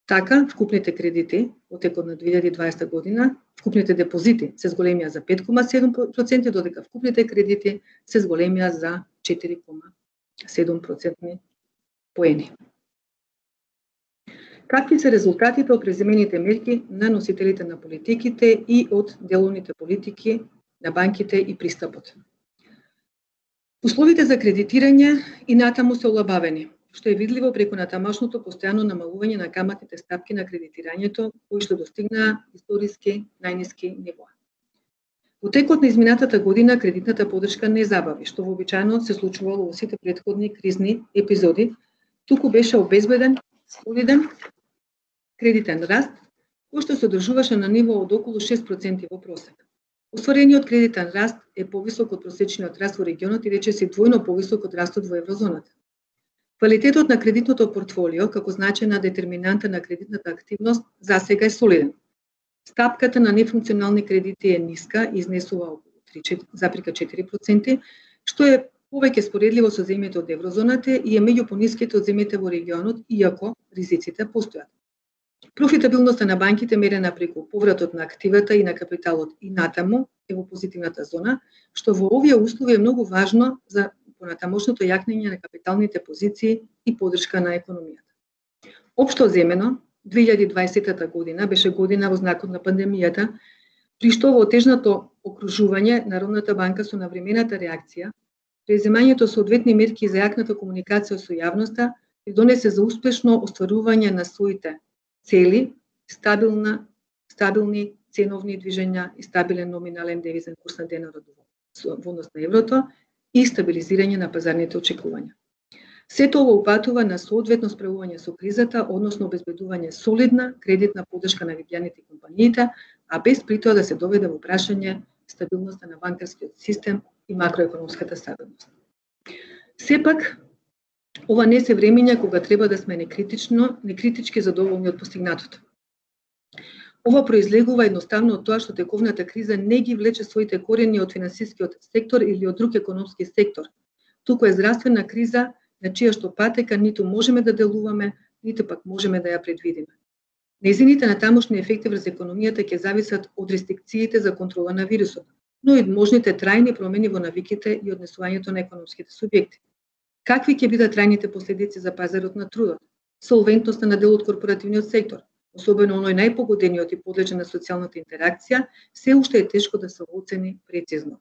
Така, вкупните кредити во текот на две илјади и дваесета година, вкупните депозити се зголемија за пет зарез седум проценти, додека вкупните кредити се зголемија за четири зарез седум проценти поени. Какви се резултатите од преземените мерки на носителите на политиките и од деловните политики на банките и пристапот? Условите за кредитирање и натаму се олабавени, што е видливо преку натамошното постојано намалување на каматните стапки на кредитирањето, кои што достигнаа историски најниски нивоа. Во текот на изминатата година кредитната поддршка не забави, што вообичаено се случувало во сите претходни кризни епизоди, туку беше обезбеден солиден кредитен раст, кој што се одржуваше на ниво од околу шест проценти во просек. Остварениот кредитен раст е повисок од просечниот раст во регионот и речиси двојно повисок од растот во еврозоната. Квалитетот на кредитното портфолио, како значајна детерминанта на кредитната активност, засега е солиден. Стапката на нефункционални кредити е ниска и изнесува околу три зарез четири проценти, што е повеќе споредливо со земјите од еврозоната и е меѓу пониските од земјите во регионот, иако ризиците постојат. Профитабилноста на банките мерена преку повратот на активата и на капиталот и натаму е во позитивната зона, што во овие услови е многу важно за понатамошното јакнење на капиталните позиции и поддршка на економијата. Општо земено, две илјади и дваесета година беше година во знакот на пандемијата, при што во отежното окружување Народната банка со навремената реакција, преземањето соодветни мерки за јакната комуникација со јавноста придонесе за успешно остварување на своите цели, стабилна, стабилни ценовни движења и стабилен номинален девизен курс на денарот во однос на еврото и стабилизирање на пазарните очекувања. Сето ова упатува на соодветно справување со кризата, односно обезбедување солидна кредитна поддршка на граѓаните и компаниите, а без при тоа да се доведе во прашање стабилноста на банкарскиот систем и макроекономската стабилност. Сепак, ова не се времења кога треба да сме некритично, некритички задоволни од постигнатото. Ова произлегува едноставно од тоа што тековната криза не ги влече своите корени од финансискиот сектор или од друг економски сектор, туку е здравствена криза на чија што патека ниту можеме да делуваме, ниту пак можеме да ја предвидиме. Нејзините натамошни ефекти врз економијата ќе зависат од рестрикциите за контрола на вирусот, но и од можните трајни промени во навиките и однесувањето на економските субјекти. Какви ќе бидат трајните последици за пазарот на трудот, солвентноста на дел од корпоративниот сектор, особено оној најпогодениот и подлежен на социјалната интеракција, се уште е тешко да се оцени прецизно.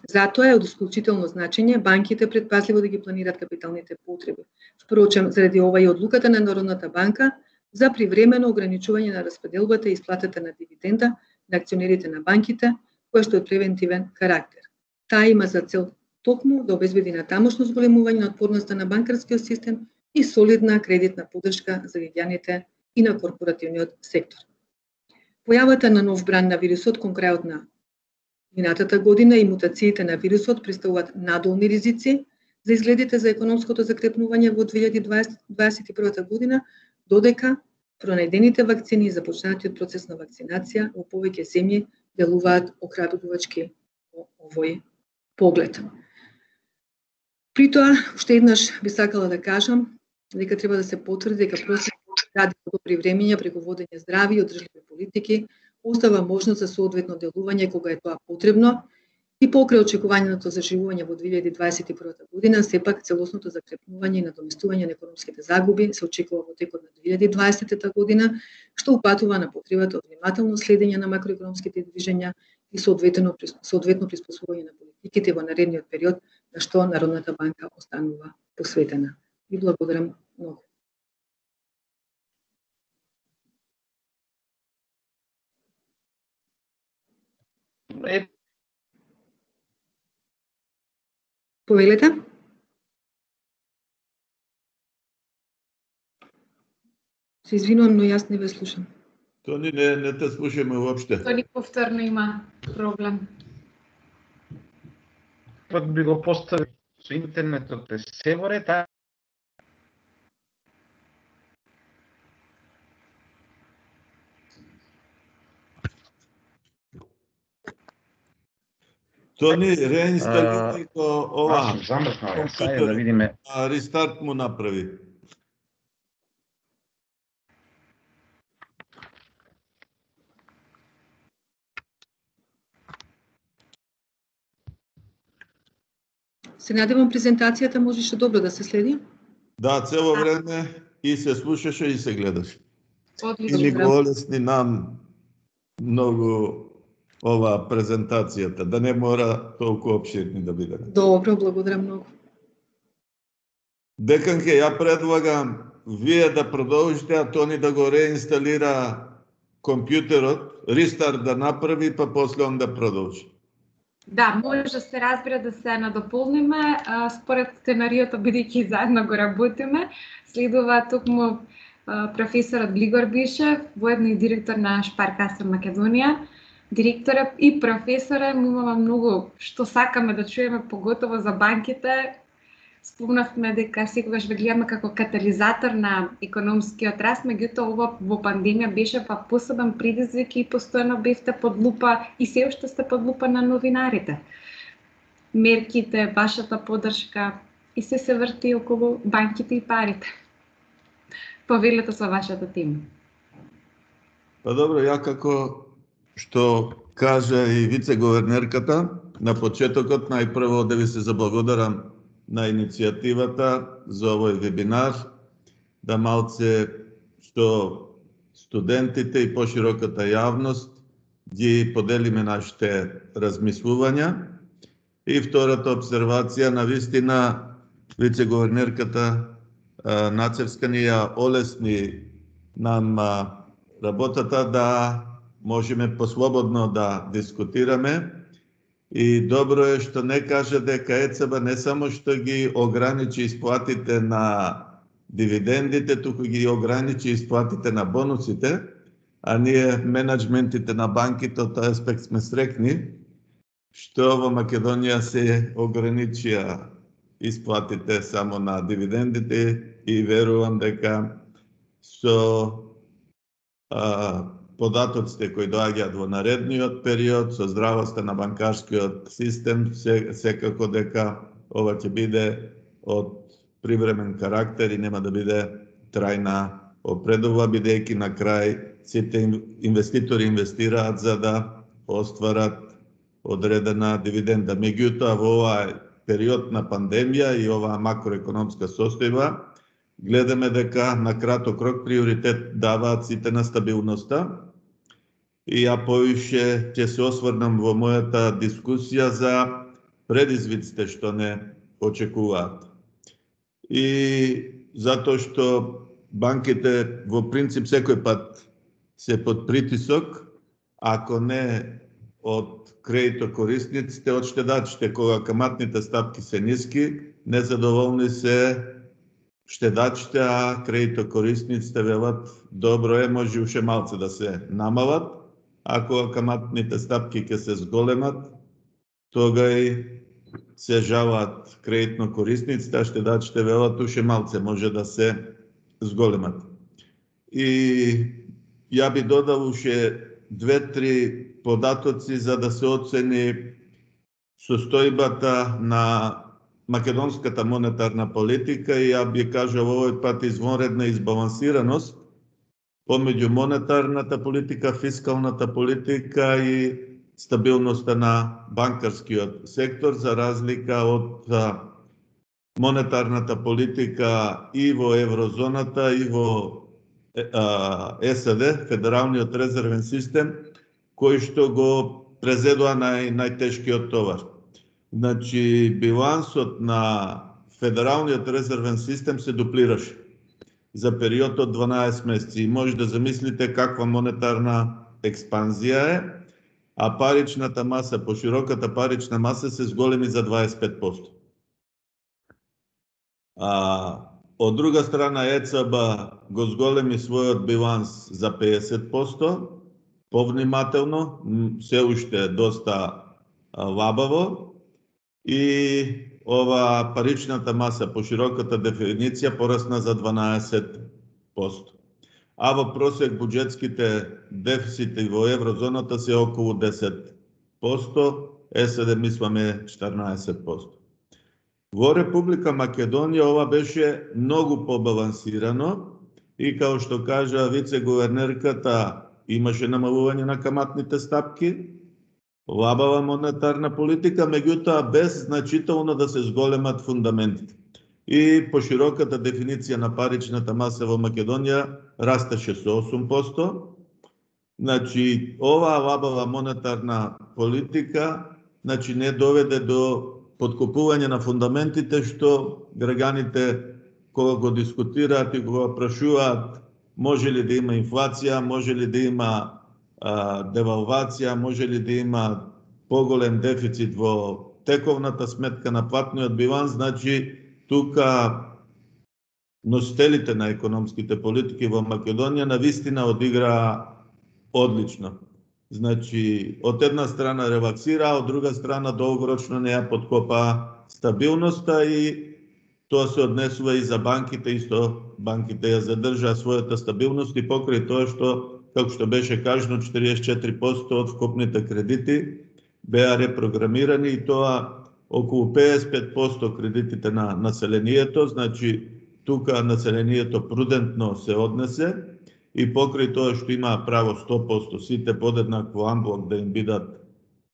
Затоа е од исклучително значење банките предпазливо да ги планираат капиталните потреби. Впрочем, заради ова и одлуката на Народната банка за привремено ограничување на распределбата и исплатата на дивиденда на акционерите на банките, која што е превентивен карактер. Таа има за цел токму да обезбеди натамошно зголемување на отпорноста на банкарскиот систем и солидна кредитна поддршка за граѓаните и на корпоративниот сектор. Појавата на нов бран на вирусот кон крајот на минатата година и мутациите на вирусот представуваат надолни ризици за изгледите за економското закрепнување во две илјади дваесет и прва година, додека пронајдените вакцини и започнатиот процес на вакцинација во повеќе земји делуваат охрабрувачки во овој поглед. При тоа, уште еднаш би сакала да кажам дека треба да се потврди дека процесот ради во добри времиња преку водење здрави и одржливи политики остава можност за соодветно делување кога е тоа потребно и покрај очекувањето заживување во две илјади дваесет и прва година, сепак целосното закрепнување и надоместување на економските загуби се очекува во текот на две илјади дваесета година, што упатува на потребата од внимателно следење на макроекономските движења и соодветно соодветно приспособување на политиките во наредниот период, на што Народната банка останува посветена. Ви благодарам многу. Е, Повелете? Се извинувам, но јас не ве слушам. Тони, не, не те слушаме уопште. Тони повторно има проблем. пак би го поставил со интернетот е се во ред, а Тони, реинсталирај го ова. Аз замрзнал, сајде да видиме. А рестарт му направи. Се надевам презентацијата можеше добро да се следи. Да, цело време и се слушаше и се гледаше. И ни Одлично. го олесни нам многу ова презентацијата, да не мора толку опширни да биде. Добро, благодарам многу. Деканке, ја предлагам вие да продолжите, а Тони да го реинсталира компјутерот, рестарт да направи, па после он да продолжи. Да, може да се разбира да се надополниме, а, според сценариото, бидејќи заедно го работиме, следува токму а, професорот Глигор Бишев, воедно и директор на Шпаркаса Македонија. Директорот и професорот имаме многу што сакаме да чуеме, поготово за банките. Спомнавме дека секогаш ве гледаме како катализатор на економскиот раст, меѓутоа ова во пандемија беше па посебен предизвик и постојано бевте под лупа и се уште сте под лупа на новинарите. Мерките, вашата поддршка и се се врти околу банките и парите. Повелете со вашата тема. Па добро, ја како што кажа и вице-говернерката, на почетокот најпрво да ви се заблагодарам на иницијативата за овој вебинар, да малце што студентите и пошироката јавност ги поделиме нашите размислувања. И втората обсервација, на вистина, вице-говернерката Нацевска ни ја олесни нам работата да можеме послободно да дискутираме. И добро е што не кажа дека ЕЦБ не само што ги ограничи исплатите на дивидендите, туку ги ограничи исплатите на бонусите, а ние менеджментите на банките од тој аспект сме срекни, што во Македонија се ограничија исплатите само на дивидендите и верувам дека со а, податоците кои доаѓаат во наредниот период, со здравоста на банкарскиот систем, се, секако дека ова ќе биде од привремен карактер и нема да биде трајна опредува, бидејќи на крај сите инвеститори инвестираат за да остварат одредена дивиденда. Меѓутоа, во овај период на пандемија и оваа макроекономска состојба, гледаме дека на краток рок приоритет даваат сите на стабилноста. И ја повише ќе се осврнам во мојата дискусија за предизвиците што не очекуваат. И затоа што банките во принцип секој пат се под притисок, ако не од кредитокорисниците, од штедачите, кога каматните стапки се ниски, незадоволни се штедачите, а кредитокорисниците велат добро е, може уште малце да се намалат, ако каматните стапки ќе се зголемат, тога и се жалат кредитно корисниците, а штедачите велат уште малце може да се зголемат. И ја би додал уште две-три податоци за да се оцени состојбата на македонската монетарна политика и ја би кажал овој пат извонредна избалансираност помеѓу монетарната политика, фискалната политика и стабилноста на банкарскиот сектор, за разлика од монетарната политика и во еврозоната и во ЕСД, Федералниот резервен систем, кој што го презедува нај, најтешкиот товар. Значи, билансот на Федералниот резервен систем се дуплираше за период од дванаесет месеци. И може да замислите каква монетарна експанзија е, а паричната маса, пошироката парична маса се зголеми за дваесет и пет проценти. А, од друга страна, ЕЦБ го зголеми својот биланс за педесет проценти, повнимателно, се уште доста лабаво, и ова паричната маса по широката дефиниција порасна за дванаесет проценти. А во просек буџетските дефицити во еврозоната се околу десет проценти, ЕСД мисламе четрнаесет проценти. Во Република Македонија ова беше многу побалансирано и, као што кажа вице-гувернерката, имаше намалување на каматните стапки, лабава монетарна политика, меѓутоа без значително да се зголемат фундаментите. И по широката дефиниција на паричната маса во Македонија растеше со осум проценти. Значи, оваа лабава монетарна политика, значи, не доведе до подкопување на фундаментите, што граѓаните кога го дискутираат и кога прашуваат може ли да има инфлација, може ли да има а, девалвација, може ли да има поголем дефицит во тековната сметка на платниот биланс, значи тука носителите на економските политики во Македонија навистина одиграа одлично. Значи, од една страна релаксира, од друга страна долгорочно не ја подкопа стабилноста и тоа се однесува и за банките, исто банките ја задржаа својата стабилност и покрај тоа што, како што беше кажано, четириесет и четири проценти од вкупните кредити беа репрограмирани и тоа околу педесет и пет проценти кредитите на населението, значи тука населението прудентно се однесе и покрај тоа што има право сто проценти сите подеднакво амблок да им бидат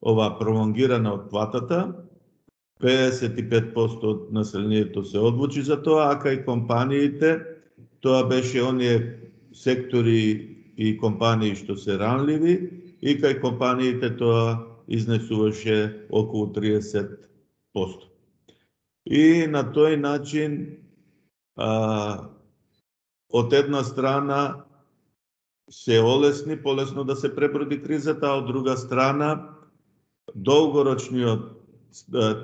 ова пролонгирана отплатата, педесет и пет проценти од населението се одлучи за тоа, а кај компаниите тоа беше оние сектори и компании што се ранливи и кај компаниите тоа изнесуваше околу триесет проценти. И на тој начин а, од една страна се олесни, полесно да се преброди кризата, а од друга страна долгорочниот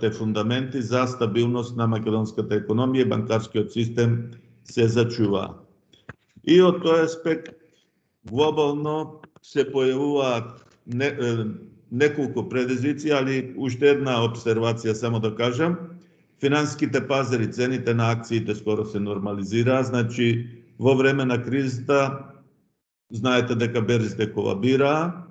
те фундаменти за стабилност на македонската економија и банкарскиот систем се зачуваа. И од тој аспект глобално се појавуваат не, неколку предизвици, али уште една обсервација само да кажам. Финансиските пазари, цените на акциите скоро се нормализираа, значи во време на кризата знаете дека берзите колабираа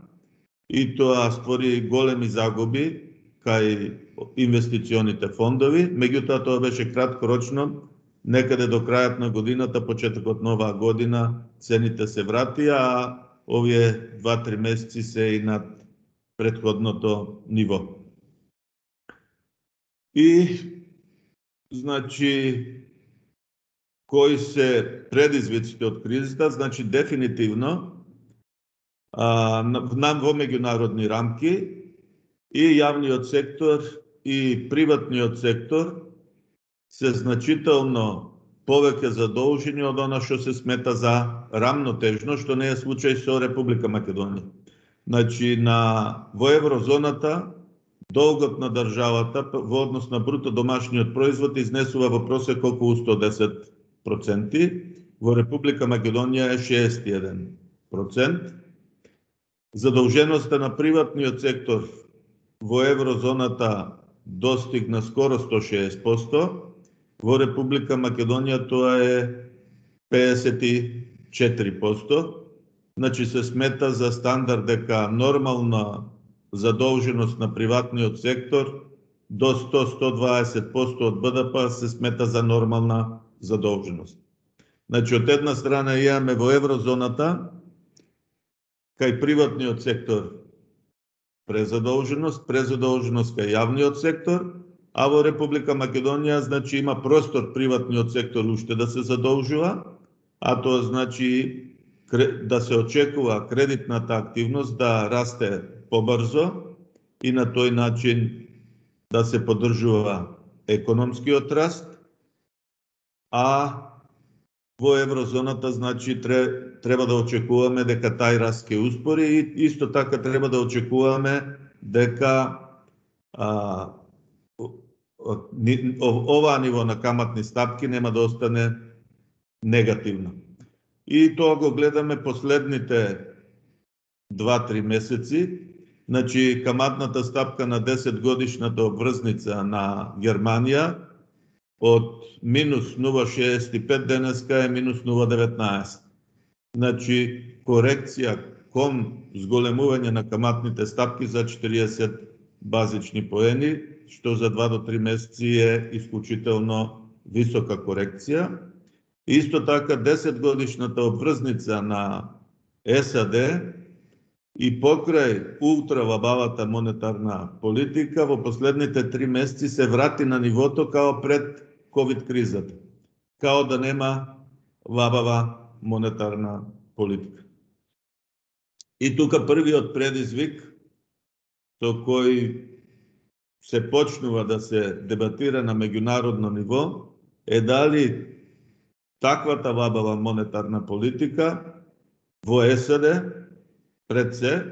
и тоа створи големи загуби кај инвестиционите фондови, меѓутоа тоа беше краткорочно, некаде до крајот на годината, почетокот на оваа година, цените се вратија, а овие два-три месеци се и над претходното ниво. И, значи, кои се предизвиците од кризата, значи дефинитивно а, на, во меѓународни рамки и јавниот сектор и приватниот сектор се значително повеќе задолжени од она што се смета за рамнотежно, што не е случај со Република Македонија. Значи, на, во еврозоната, долгот на државата во однос на бруто домашниот производ изнесува во просек околу сто десет проценти, во Република Македонија е шеесет и еден процент. Задолженоста на приватниот сектор во еврозоната достигна скоро сто шеесет проценти, во Република Македонија тоа е педесет и четири проценти. Значи се смета за стандард дека нормална задолженост на приватниот сектор до сто до сто дваесет проценти од Б Д П се смета за нормална задолженост. Значи од една страна имаме во еврозоната кај приватниот сектор презадолженост, презадолженост кај јавниот сектор, а во Република Македонија значи има простор приватниот сектор уште да се задолжува, а тоа значи да се очекува кредитната активност да расте побрзо и на тој начин да се поддржува економскиот раст, а во еврозоната значи треба да очекуваме дека тај раст ќе успори и исто така треба да очекуваме дека а, оваа ниво на каматни стапки нема да остане негативно. И тоа го гледаме последните два-три месеци. Значи, каматната стапка на десет годишната обврзница на Германија од минус нула целу шеесет и пет денеска е минус нула целу деветнаесет. Значи, корекција кон зголемување на каматните стапки за четириесет базични поени, што за два до три месеци е исклучително висока корекција. Исто така десет годишната обврзница на С А Д и покрај ултравабавата монетарна политика во последните три месеци се врати на нивото као пред ковид кризата, као да нема вабава монетарна политика. И тука првиот предизвик со кој се почнува да се дебатира на меѓународно ниво е дали таквата вабава монетарна политика во С А Д пред се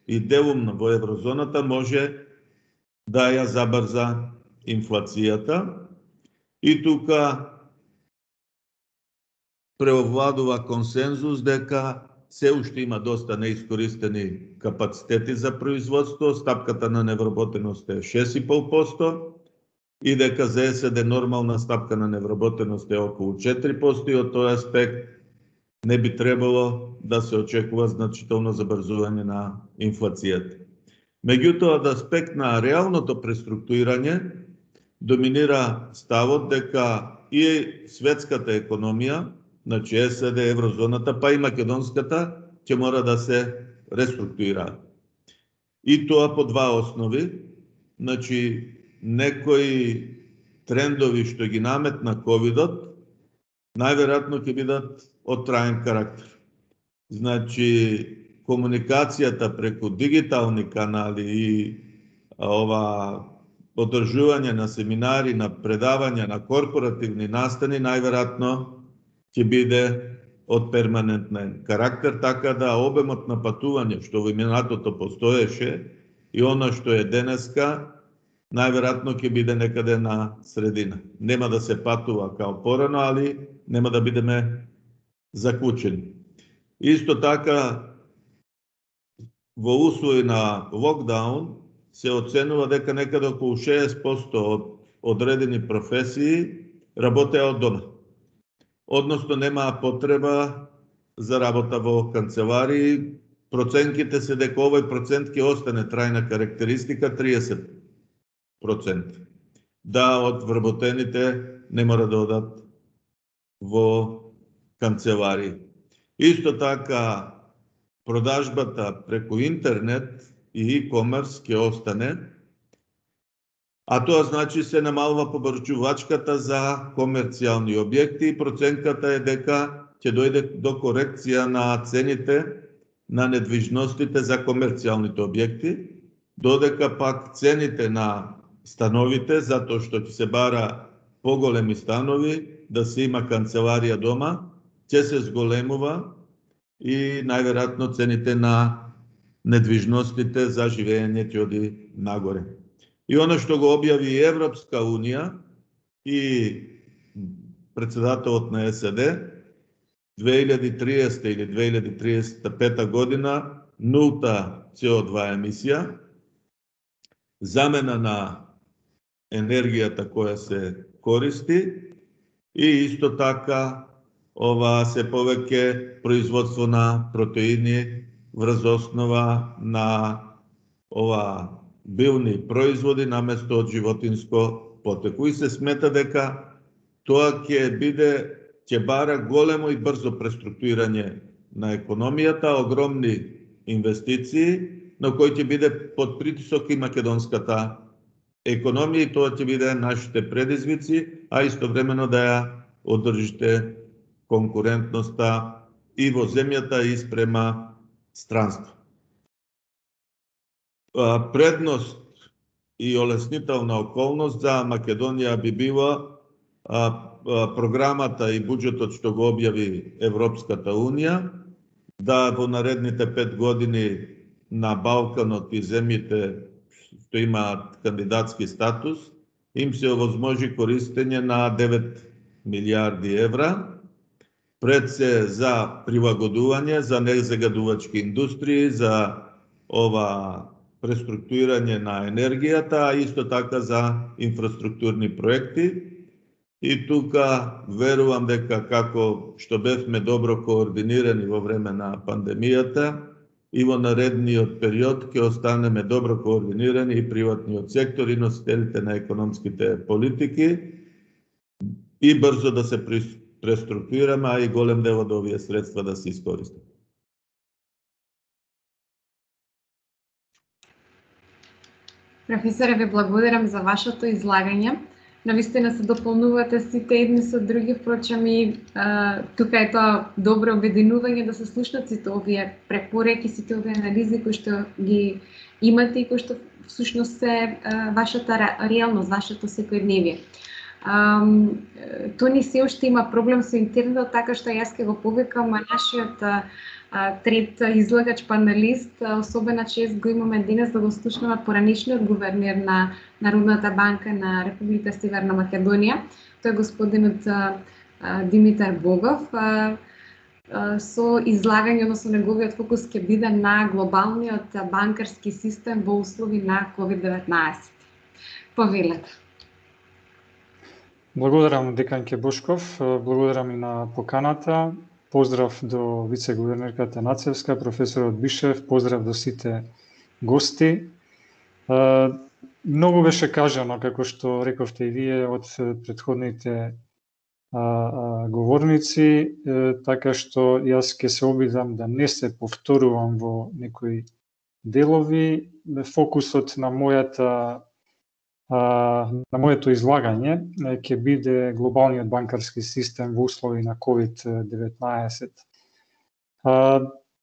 и делумно во еврозоната може да ја забрза инфлацијата и тука преовладува консензус дека се уште има доста неискористени капацитети за производство, стапката на невработеност е шест и пет проценти и дека за С А Д нормална стапка на невработеност е околу четири проценти и од тој аспект не би требало да се очекува значително забрзување на инфлацијата. Меѓутоа, од аспект на реалното преструктурирање доминира ставот дека и светската економија, значи С А Д, еврозоната, па и македонската, ќе мора да се реструктурира. И тоа по два основи, значи некои трендови што ги наметна ковидот, најверојатно ќе бидат од траен карактер. Значи, комуникацијата преку дигитални канали и ова одржување на семинари, на предавања, на корпоративни настани, најверојатно ќе биде од перманентен карактер, така да обемот на патување што во минатото постоеше и она што е денеска, најверојатно ќе биде некаде на средина. Нема да се патува као порано, али нема да бидеме заклучени. Исто така, во услови на локдаун се оценува дека некаде околу шеесет проценти од одредени професии работеа од дома. Односно немаа потреба за работа во канцеларии. Проценките се дека овој процент ќе остане трајна карактеристика триесет проценти. Да, од вработените не мора да одат во канцеларии. Исто така, продажбата преку интернет и e-commerce ќе остане, а тоа значи се намалува побарчувачката за комерцијални објекти и проценката е дека ќе дојде до корекција на цените на недвижностите за комерцијалните објекти, додека пак цените на становите, затоа што ќе се бара поголеми станови, да се има канцеларија дома, ќе се зголемува и најверојатно цените на недвижностите за живење ќе оди нагоре. И оно што го објави Европска унија и председателот на САД, две илјади и триесета или две илјади и триесет и пета година нулта С О два емисија, замена на енергијата која се користи и исто така ова се повеќе производство на протеини врз основа на ова билни производи наместо од животинско потекло. И се смета дека тоа ќе биде ќе бара големо и брзо преструктурирање на економијата, огромни инвестиции, но кој ќе биде под притисок и македонската економија и тоа ќе биде нашите предизвици, а истовремено да ја одржите конкурентноста и во земјата и спрема странство. Предност и олеснителна околност за Македонија би била програмата и буџетот што го објави Европската унија, да во наредните пет години на Балканот и земјите што имаат кандидатски статус, им се овозможи користење на девет милијарди евра, пред се за прилагодување, за незагадувачки индустрии, за ова преструктурирање на енергијата, а исто така за инфраструктурни проекти. И тука верувам дека како што бевме добро координирани во време на пандемијата, и во наредниот период ќе останеме добро координирани и приватниот сектор и носителите на економските политики и брзо да се преструктурираме, а и голем дел од овие средства да се искористат. Професоре, ви благодарам за вашето излагање. Навистина се дополнувате сите едни со други, впрочем и а, тука е тоа добро обединување да се слушнат сите овие препораки, сите овие анализи кои што ги имате и кои што всушност се а, вашата реалност, вашето секојдневие. Тони се уште има проблем со интернетот, така што јас ќе го повикам нашиот а, трет излагач паналист, особена чест го имаме денес да го слушнаме поранишниот гувернер на Народната банка на Република Северна Македонија. Тој е господинот а, Димитар Богов. А, а, со излагање, односно неговиот фокус ќе биде на глобалниот банкарски систем во услови на ковид деветнаесет. Повелете. Благодарам деканке Бошков, благодарам и на поканата. Поздрав до вице-гувернерката Нацевска, професорот Бишев, поздрав до сите гости. Многу беше кажано, како што рековте и вие, од претходните говорници, така што јас ќе се обидам да не се повторувам во некои делови. Фокусот на мојата на моето излагање ќе биде глобалниот банкарски систем во услови на ковид деветнаесет.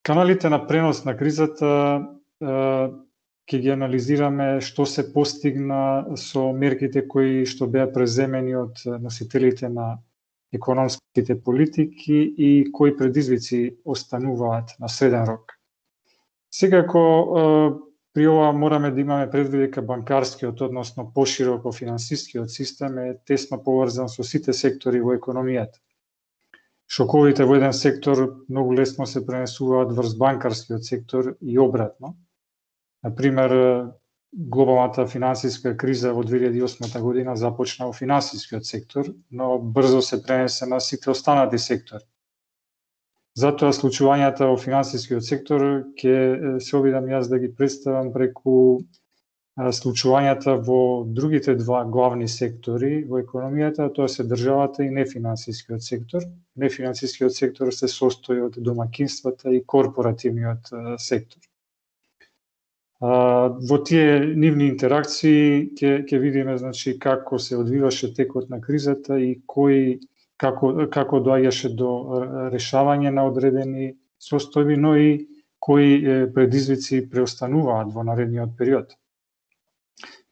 Каналите на пренос на кризата ќе ги анализираме што се постигна со мерките кои што беа преземени од носителите на економските политики и кои предизвици остануваат на среден рок. Секако при ова мораме да имаме предвид дека банкарскиот, односно пошироко финансискиот систем е тесно поврзан со сите сектори во економијата. Шоковите во еден сектор многу лесно се пренесуваат врз банкарскиот сектор и обратно. Например, глобалната финансиска криза во две илјади и осма година започна во финансискиот сектор, но брзо се пренесе на сите останати сектори. Затоа случувањата во финансискиот сектор ќе се обидам јас да ги представам преку случувањата во другите два главни сектори во економијата, тоа се државата и нефинансискиот сектор. Нефинансискиот сектор се состои од домаќинствата и корпоративниот сектор. Во тие нивни интеракции ќе ќе видиме значи како се одвиваше текот на кризата и кој како како доаѓаше до решавање на одредени состојби, но и кои предизвици преостануваат во наредниот период.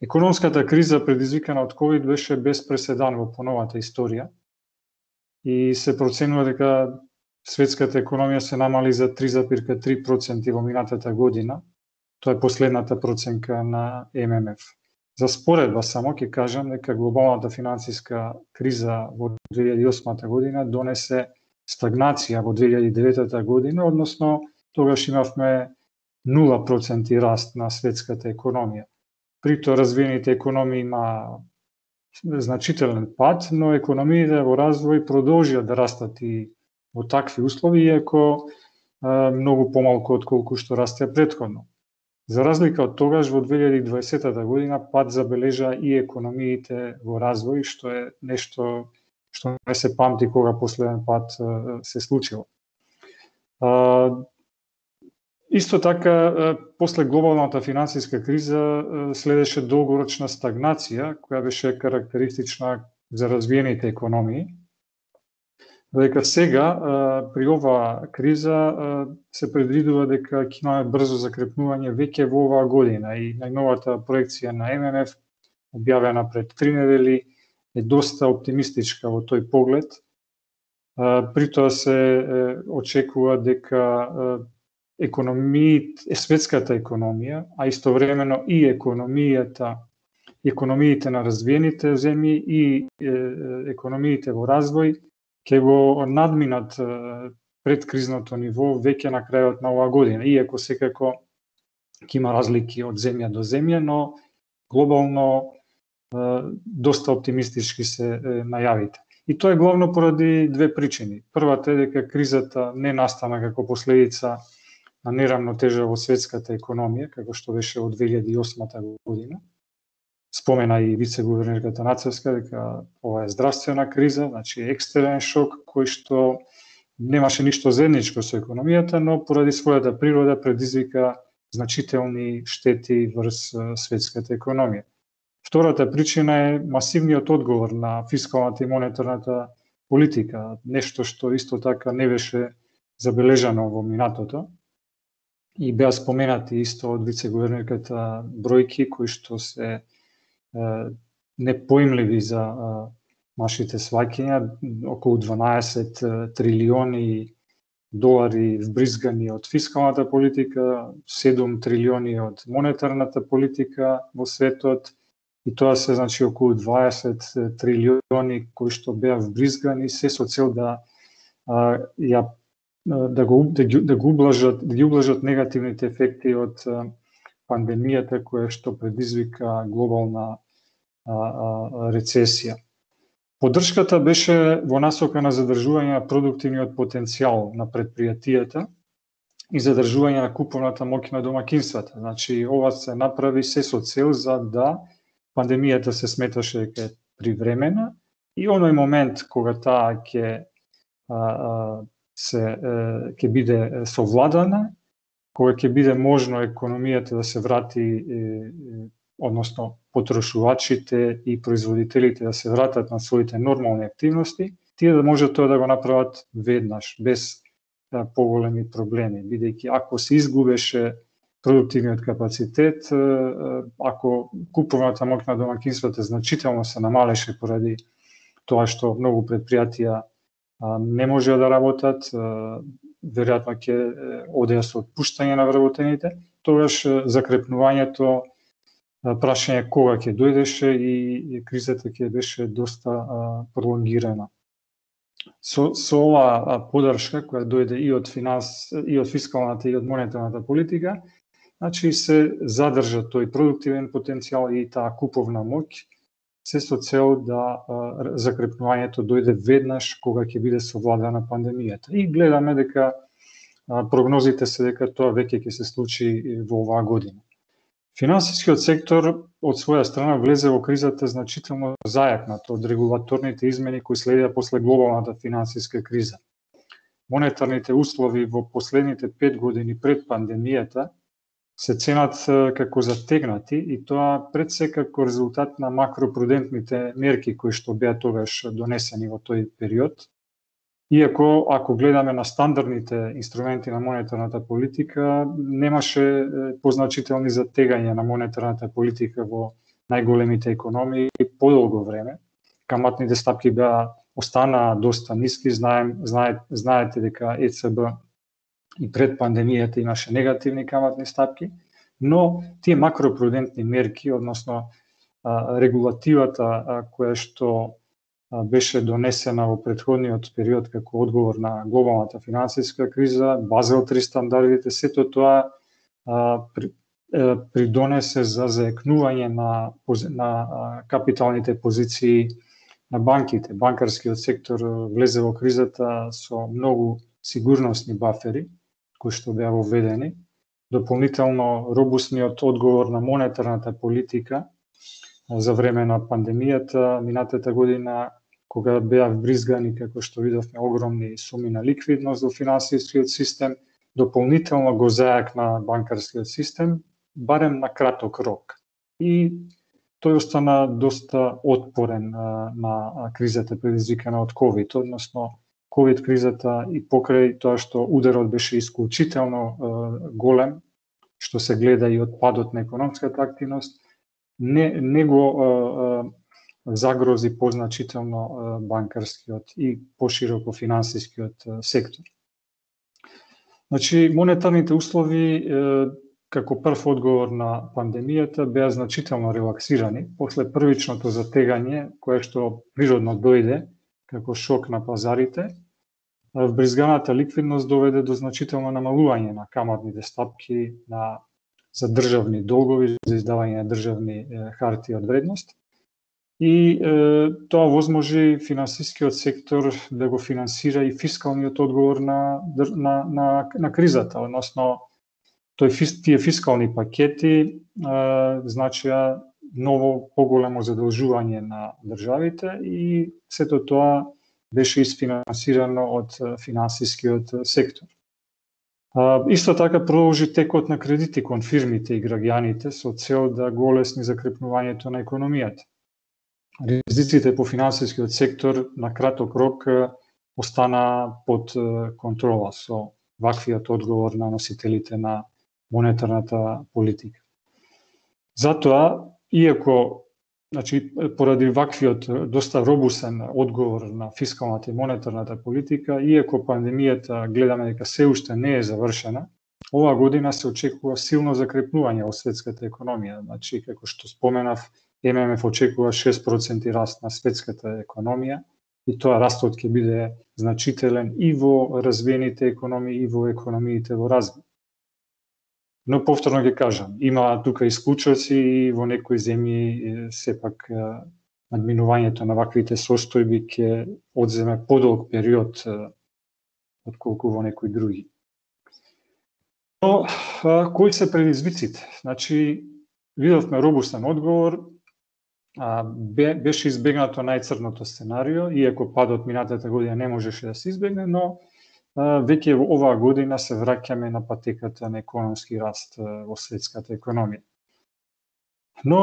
Економската криза предизвикана од ковид беше без преседан во поновата историја и се проценува дека светската економија се намали за три зарез три проценти во минатата година. Тоа е последната проценка на Ем Ем Еф. За споредба само ќе кажам дека глобалната финансиска криза во две илјади и осма година донесе стагнација во две илјади и деветта година, односно тогаш имавме нула проценти раст на светската економија. Прито развиените економии има значителен пад, но економиите во развој продолжија да растат и во такви услови, иако многу помалку од колку што растеа претходно. За разлика од тогаш, во две илјади и дваесетта година пад забележа и економиите во развој, што е нешто што не се памти кога последен пат се случило. Исто така, после глобалната финансиска криза следеше долгорочна стагнација, која беше карактеристична за развиените економии. Додека сега, при оваа криза, се предвидува дека ќе имаме брзо закрепнување веќе во оваа година и најновата проекција на Ем Ем Еф, објавена пред три недели, е доста оптимистичка во тој поглед. При тоа се очекува дека економиите, светската економија, а истовремено и економијата, економиите на развиените земји и економиите во развој ќе го надминат предкризното ниво веќе на крајот на оваа година, иако секако ќе има разлики од земја до земја, но глобално доста оптимистички се најавите. И тоа е главно поради две причини. Првата е дека кризата не настана како последица на неравнотежа во светската економија, како што беше од две илјади и осма година. Спомена и вице-гувернерката Нацевска дека ова е здравствена криза, значи екстерен шок кој што немаше ништо заедничко со економијата, но поради својата природа предизвика значителни штети врз светската економија. Втората причина е масивниот одговор на фискалната и монетарната политика, нешто што исто така не беше забележано во минатото. И беа споменати исто од вице-гувернерката бројки кои што се непоимливи за нашите сваќања, околу дванаесет трилиони долари вбризгани од фискалната политика, седум трилиони од монетарната политика во светот, и тоа се значи околу дваесет трилиони кои што беа вбризгани се со цел да ја да го да ги, да го ублажат да ги ублажат негативните ефекти од пандемијата која што предизвика глобална а, а, рецесија. Поддршката беше во насока на задржување на продуктивниот потенцијал на предпријатијата и задржување на куповната моќ на домаќинствата. Значи, ова се направи се со цел за да пандемијата се сметаше дека е привремена и оној момент кога таа ќе се ќе биде совладана, кога ќе биде можно економијата да се врати, односно потрошувачите и производителите да се вратат на своите нормални активности, тие да може тоа да го направат веднаш, без поголеми проблеми, бидејќи ако се изгубеше продуктивниот капацитет, ако куповната моќ на домаќинствата значително се намалеше поради тоа што многу предпријатија не можеа да работат, веројатно ќе одеа со отпуштање на вработените, тогаш закрепнувањето, прашање кога ќе дојдеше и кризата ќе беше доста пролонгирана. Со, со оваа поддршка која дојде и од финанс, и од фискалната и од монетарната политика, значи се задржа тој продуктивен потенцијал и таа куповна моќ, се со цел да а, закрепнувањето дојде веднаш кога ќе биде совладана пандемијата. И гледаме дека а, прогнозите се дека тоа веќе ќе се случи во оваа година. Финансискиот сектор од своја страна влезе во кризата значително зајакнат од регулаторните измени кои следеа после глобалната финансиска криза. Монетарните услови во последните пет години пред пандемијата се ценат како затегнати и тоа пред се како резултат на макропрудентните мерки кои што беа тогаш донесени во тој период. Иако, ако гледаме на стандардните инструменти на монетарната политика, немаше позначителни затегања на монетарната политика во најголемите економии подолго време. Каматните стапки беа останаа доста ниски, знаем, знаете, знаете дека Е Це Бе и пред пандемијата имаше негативни каматни стапки, но тие макропрудентни мерки, односно регулативата која што беше донесена во претходниот период како одговор на глобалната финансиска криза, Базел три стандардите, сето тоа при, придонесе за заекнување на, на капиталните позиции на банките. Банкарскиот сектор влезе во кризата со многу сигурносни бафери, кои што беа воведени. Дополнително, робусниот одговор на монетарната политика за време на пандемијата, минатата година, кога беа вбризгани, како што видовме, огромни суми на ликвидност во финансискиот систем, дополнително го зајакна банкарскиот систем, барем на краток рок. И тој остана доста отпорен а, на кризата предизвикана од ковид, односно ковид кризата и покрај тоа што ударот беше исклучително а, голем, што се гледа и од падот на економската активност, не, не го а, а, загрози позначително банкарскиот и пошироко финансискиот сектор. Значи, монетарните услови како прв одговор на пандемијата беа значително релаксирани после првичното затегање кое што природно дојде како шок на пазарите. Вбризганата ликвидност доведе до значително намалување на каматните стапки на за државни долгови, за издавање на државни хартии од вредност. И е, тоа возможи финансискиот сектор да го финансира и фискалниот одговор на, на, на, на кризата, односно тој, тие фискални пакети е, значија ново поголемо задолжување на државите и сето тоа беше isfinansirano од финансискиот сектор. А, исто така продолжи текот на кредити кон фирмите и граѓаните со цел да го олесни закрепнувањето на економијата. Ризиците по финансискиот сектор на краток рок остана под контрола со ваквиот одговор на носителите на монетарната политика. Затоа, иако значи, поради ваквиот доста робусен одговор на фискалната и монетарната политика, иако пандемијата гледаме дека се уште не е завршена, оваа година се очекува силно закрепнување во светската економија. Значи, како што споменав, Ем Ем Еф очекува шест проценти раст на светската економија и тоа растот ќе биде значителен и во развиените економии и во економиите во развој. Но повторно ќе кажам, има тука исклучоци и во некои земји сепак надминувањето на ваквите состојби ќе одземе подолг период отколку во некои други. Но кои се предизвиците? Значи, видовме робустен одговор, беше избегнато најцрното сценарио, иако падот минатата година не можеше да се избегне, но веќе оваа година се враќаме на патеката на економски раст во светската економија. Но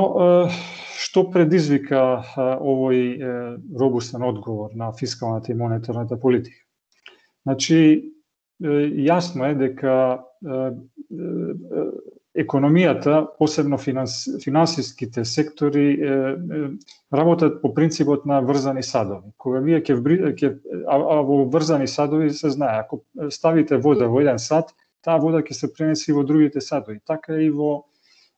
што предизвика овој робустен одговор на фискалната и монетарната политика? Значи, јасно е дека економијата, посебно финанс, финансиските сектори, е, е, работат по принципот на врзани садови. Кога вие ќе ќе а, а во врзани садови се знае, ако ставите вода во еден сад, таа вода ќе се пренеси во другите садови. Така и во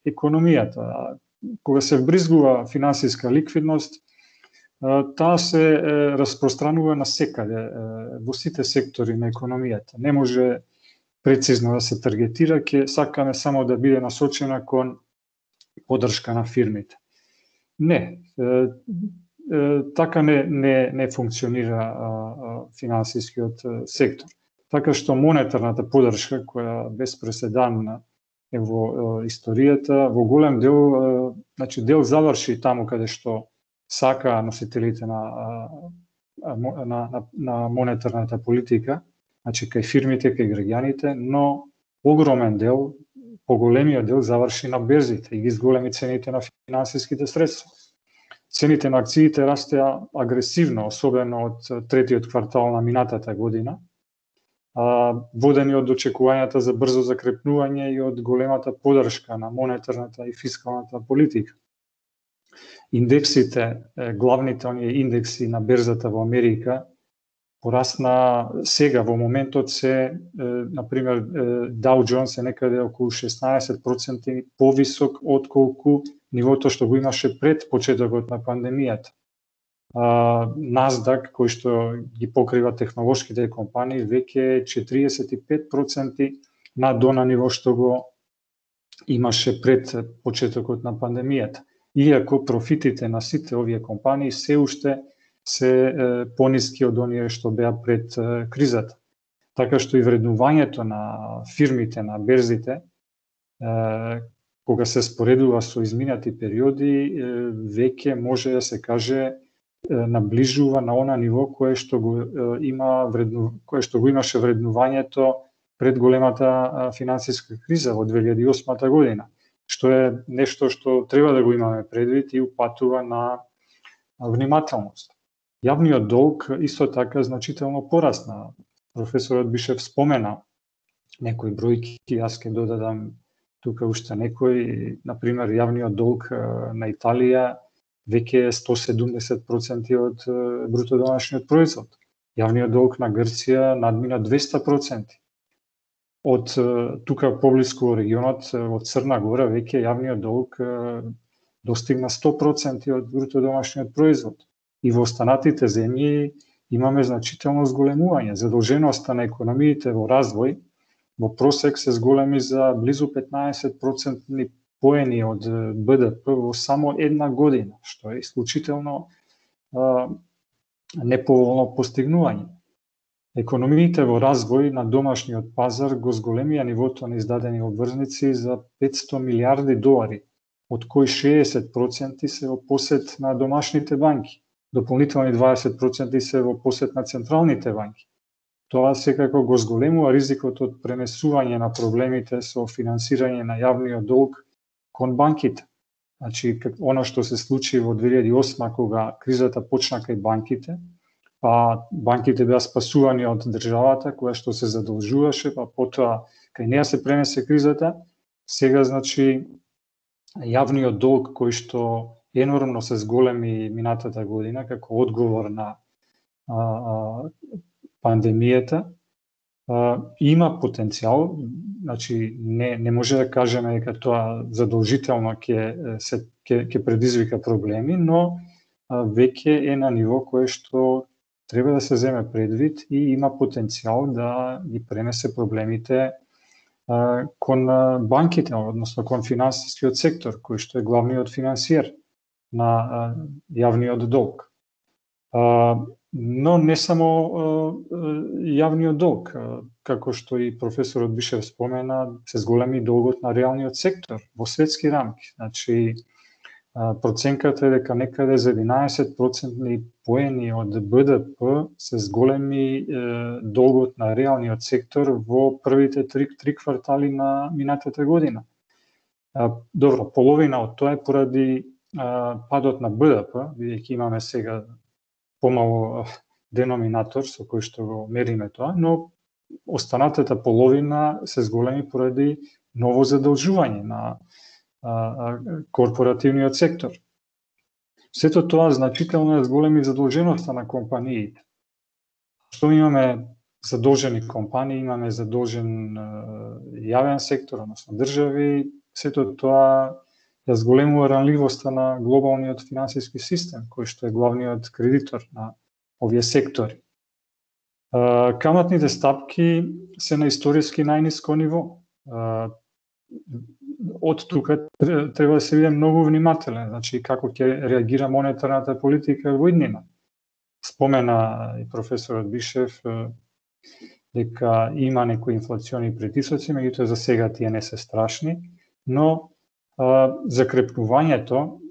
економијата. Кога се вбризгува финансиска ликвидност, таа се е, распространува насекаде во сите сектори на економијата. Не може прецизно да се таргетира, ќе сакаме само да биде насочена кон поддршка на фирмите. Не, е, е, така не, не, не функционира а, а, финансискиот сектор. Така што монетарната поддршка, која без преседан е во е, историјата, во голем дел, е, значи дел заврши таму каде што сака носителите на, а, на, на, на монетарната политика, значи кај фирмите, кај граѓаните, но огромен дел, поголемиот дел заврши на берзите и ги зголеми цените на финансиските средства. Цените на акциите растеа агресивно, особено од третиот квартал на минатата година, водени од очекувањата за брзо закрепнување и од големата поддршка на монетарната и фискалната политика. Индексите, главните оние индекси на берзата во Америка, порасна сега во моментот се, например, Dow Jones е некаде околу шеснаесет проценти повисок од колку нивото што го имаше пред почетокот на пандемијата. Nasdaq, кој што ги покрива технолошките компании, веќе е четириесет и пет проценти над она ниво што го имаше пред почетокот на пандемијата. Иако профитите на сите овие компании се уште се пониски од оние што беа пред кризата. Така што и вреднувањето на фирмите на берзите, кога се споредува со изминати периоди, веќе може да се каже наближува на она ниво кое што го има вредну, кое што го имаше вреднувањето пред големата финансиска криза во две илјади и осма година, што е нешто што треба да го имаме предвид и упатува на внимателност. Јавниот долг исто така значително порасна. Професорот Бишев спомена некои бројки, јас ќе додадам тука уште некој, например, јавниот долг на Италија веќе е сто седумдесет проценти од бруто домашниот производ. Јавниот долг на Грција надмина двесте проценти. Од тука поблиску во регионот, од Црна Гора, веќе јавниот долг достигна сто проценти од бруто домашниот производ. И во останатите земји имаме значително зголемување. Задолженоста на економиите во развој во просек се зголеми за близу петнаесет проценти поени од Б Д П во само една година, што е исклучително а, неповолно постигнување. Економиите во развој на домашниот пазар го зголемија нивото на издадени обврзници за петсто милиарди долари, од кои шеесет проценти се во посет на домашните банки. Дополнителни дваесет проценти се во посет на централните банки. Тоа секако го зголемува ризикот од пренесување на проблемите со финансирање на јавниот долг кон банките. Значи, оно што се случи во две илјади и осма кога кризата почна кај банките, па банките беа спасувани од државата која што се задолжуваше, па потоа кај неа се пренесе кризата, сега значи јавниот долг кој што енормно се зголеми минатата година како одговор на а, а, пандемијата, а, има потенцијал, значи не не може да кажеме дека тоа задолжително ќе се ќе ќе предизвика проблеми, но а, веќе е на ниво кое што треба да се земе предвид и има потенцијал да ги пренесе проблемите а, кон банките, односно кон финансискиот сектор, кој што е главниот финансиер на а, јавниот долг. А, но не само а, јавниот долг, а, како што и професорот Бишев спомена, се зголеми долгот на реалниот сектор во светски рамки. Значи, а, проценката е дека некаде за единаесет проценти поени од Б Д П се зголеми е, долгот на реалниот сектор во првите три, три квартали на минатата година. А, добро, половина од тоа е поради падот на Б Д П, бидејќи имаме сега помало деноминатор со кој што го мериме тоа, но останатата половина се зголеми поради ново задолжување на а, а, корпоративниот сектор. Сето тоа значително е зголеми задолженоста на компаниите. Што имаме задолжени компании, имаме задолжен а, јавен сектор, односно држави, сето тоа ја зголемува ранливоста на глобалниот финансиски систем, кој што е главниот кредитор на овие сектори. Каматните стапки се на историски најниско ниво. Од тука треба да се биде многу внимателен, значи како ќе реагира монетарната политика во иднина. Спомена и професорот Бишев дека има некои инфлациони притисоци, меѓутоа за сега тие не се страшни, но закрепнувањето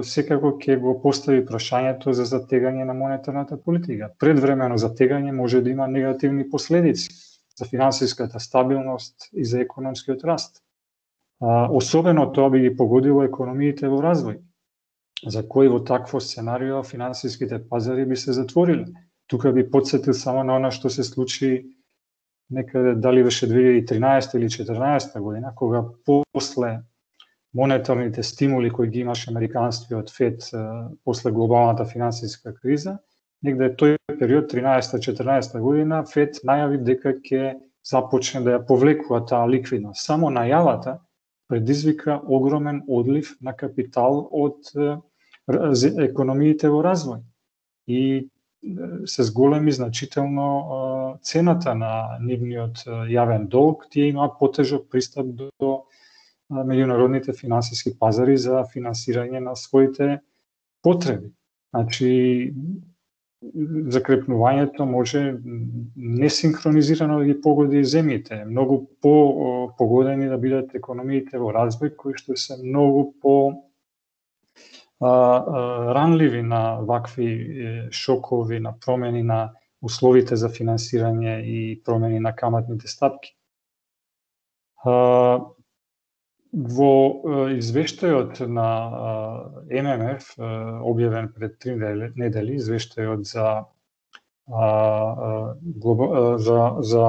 секако ќе го постави прашањето за затегање на монетарната политика. Предвремено затегање може да има негативни последици за финансиската стабилност и за економскиот раст. А, особено тоа би ги погодило економиите во развој, за кои во такво сценарио финансиските пазари би се затвориле. Тука би подсетил само на она што се случи некаде, дали беше две илјади и тринаесета или четрнаесета година, кога после монетарните стимули кои ги имаше американскиот Фед после глобалната финансиска криза, негде тој период, тринаесета-четрнаесета година, Фед најави дека ќе започне да ја повлекува таа ликвидност. Само најавата предизвика огромен одлив на капитал од економиите во развој и се зголеми значително цената на нивниот јавен долг, тие имаат потежок пристап до меѓународните финансиски пазари за финансирање на своите потреби. Значи, закрепнувањето може несинхронизирано да ги погоди земјите, многу по погодени да бидат економиите во развој, кои што се многу по а, а, ранливи на вакви шокови, на промени на условите за финансирање и промени на каматните стапки. А, во извештајот на Ем Ем Еф, објавен пред три недели, извештајот за, за, за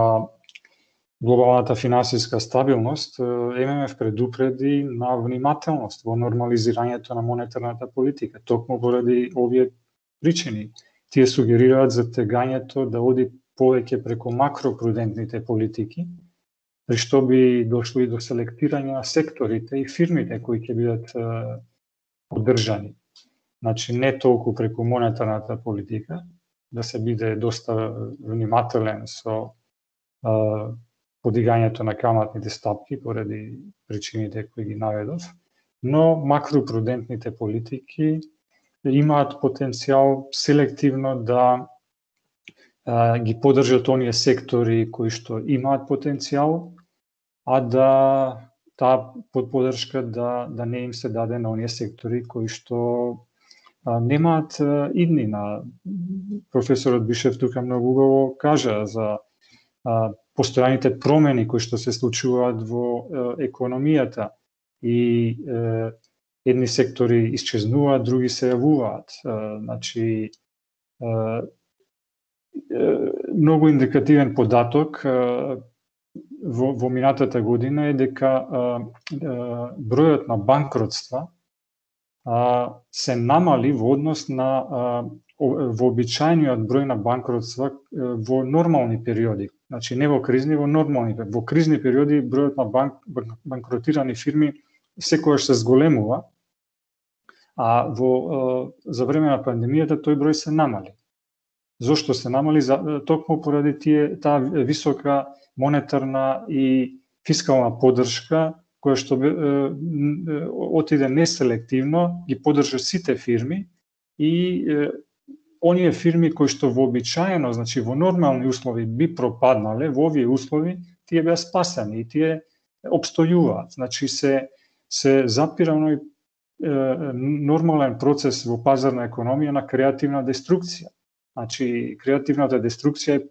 глобалната финансиска стабилност, Ем Ем Еф предупреди на внимателност во нормализирањето на монетарната политика, токму поради овие причини. Тие сугерираат затегањето да оди повеќе преку макропрудентните политики, при што би дошло и до селектирање на секторите и фирмите кои ќе бидат поддржани. Значи, не толку преку монетарната политика, да се биде доста внимателен со а, подигањето на каматните стапки поради причините кои ги наведов, но макропрудентните политики имаат потенцијал селективно да а, ги поддржат оние сектори кои што имаат потенцијал, а да таа поддршка да, да не им се даде на оние сектори кои што а, немаат а, иднина. Професорот Бишев тука многу убаво кажа за а, постојаните промени кои што се случуваат во а, економијата и а, едни сектори исчезнуваат, други се јавуваат. А, значи, а, многу индикативен податок а, Во, во минатата година е дека а, а, бројот на банкротства а, се намали во однос на а, вообичаениот број на банкротства а, во нормални периоди. Значи не во кризни, во нормални. Во кризни периоди бројот на банк, банкротирани фирми секогаш се зголемува, а во а, за време на пандемијата тој број се намали. Зошто се намали? За, токму поради тие таа висока монетарна и фискална поддршка, која што е, е, отиде неселективно, ги поддржа сите фирми и е, оние фирми кои што вообичаено, значи во нормални услови би пропаднале, во овие услови тие беа спасени и тие обстојуваат. Значи се се запира оној е, нормален процес во пазарна економија на креативна деструкција. Значи креативната деструкција е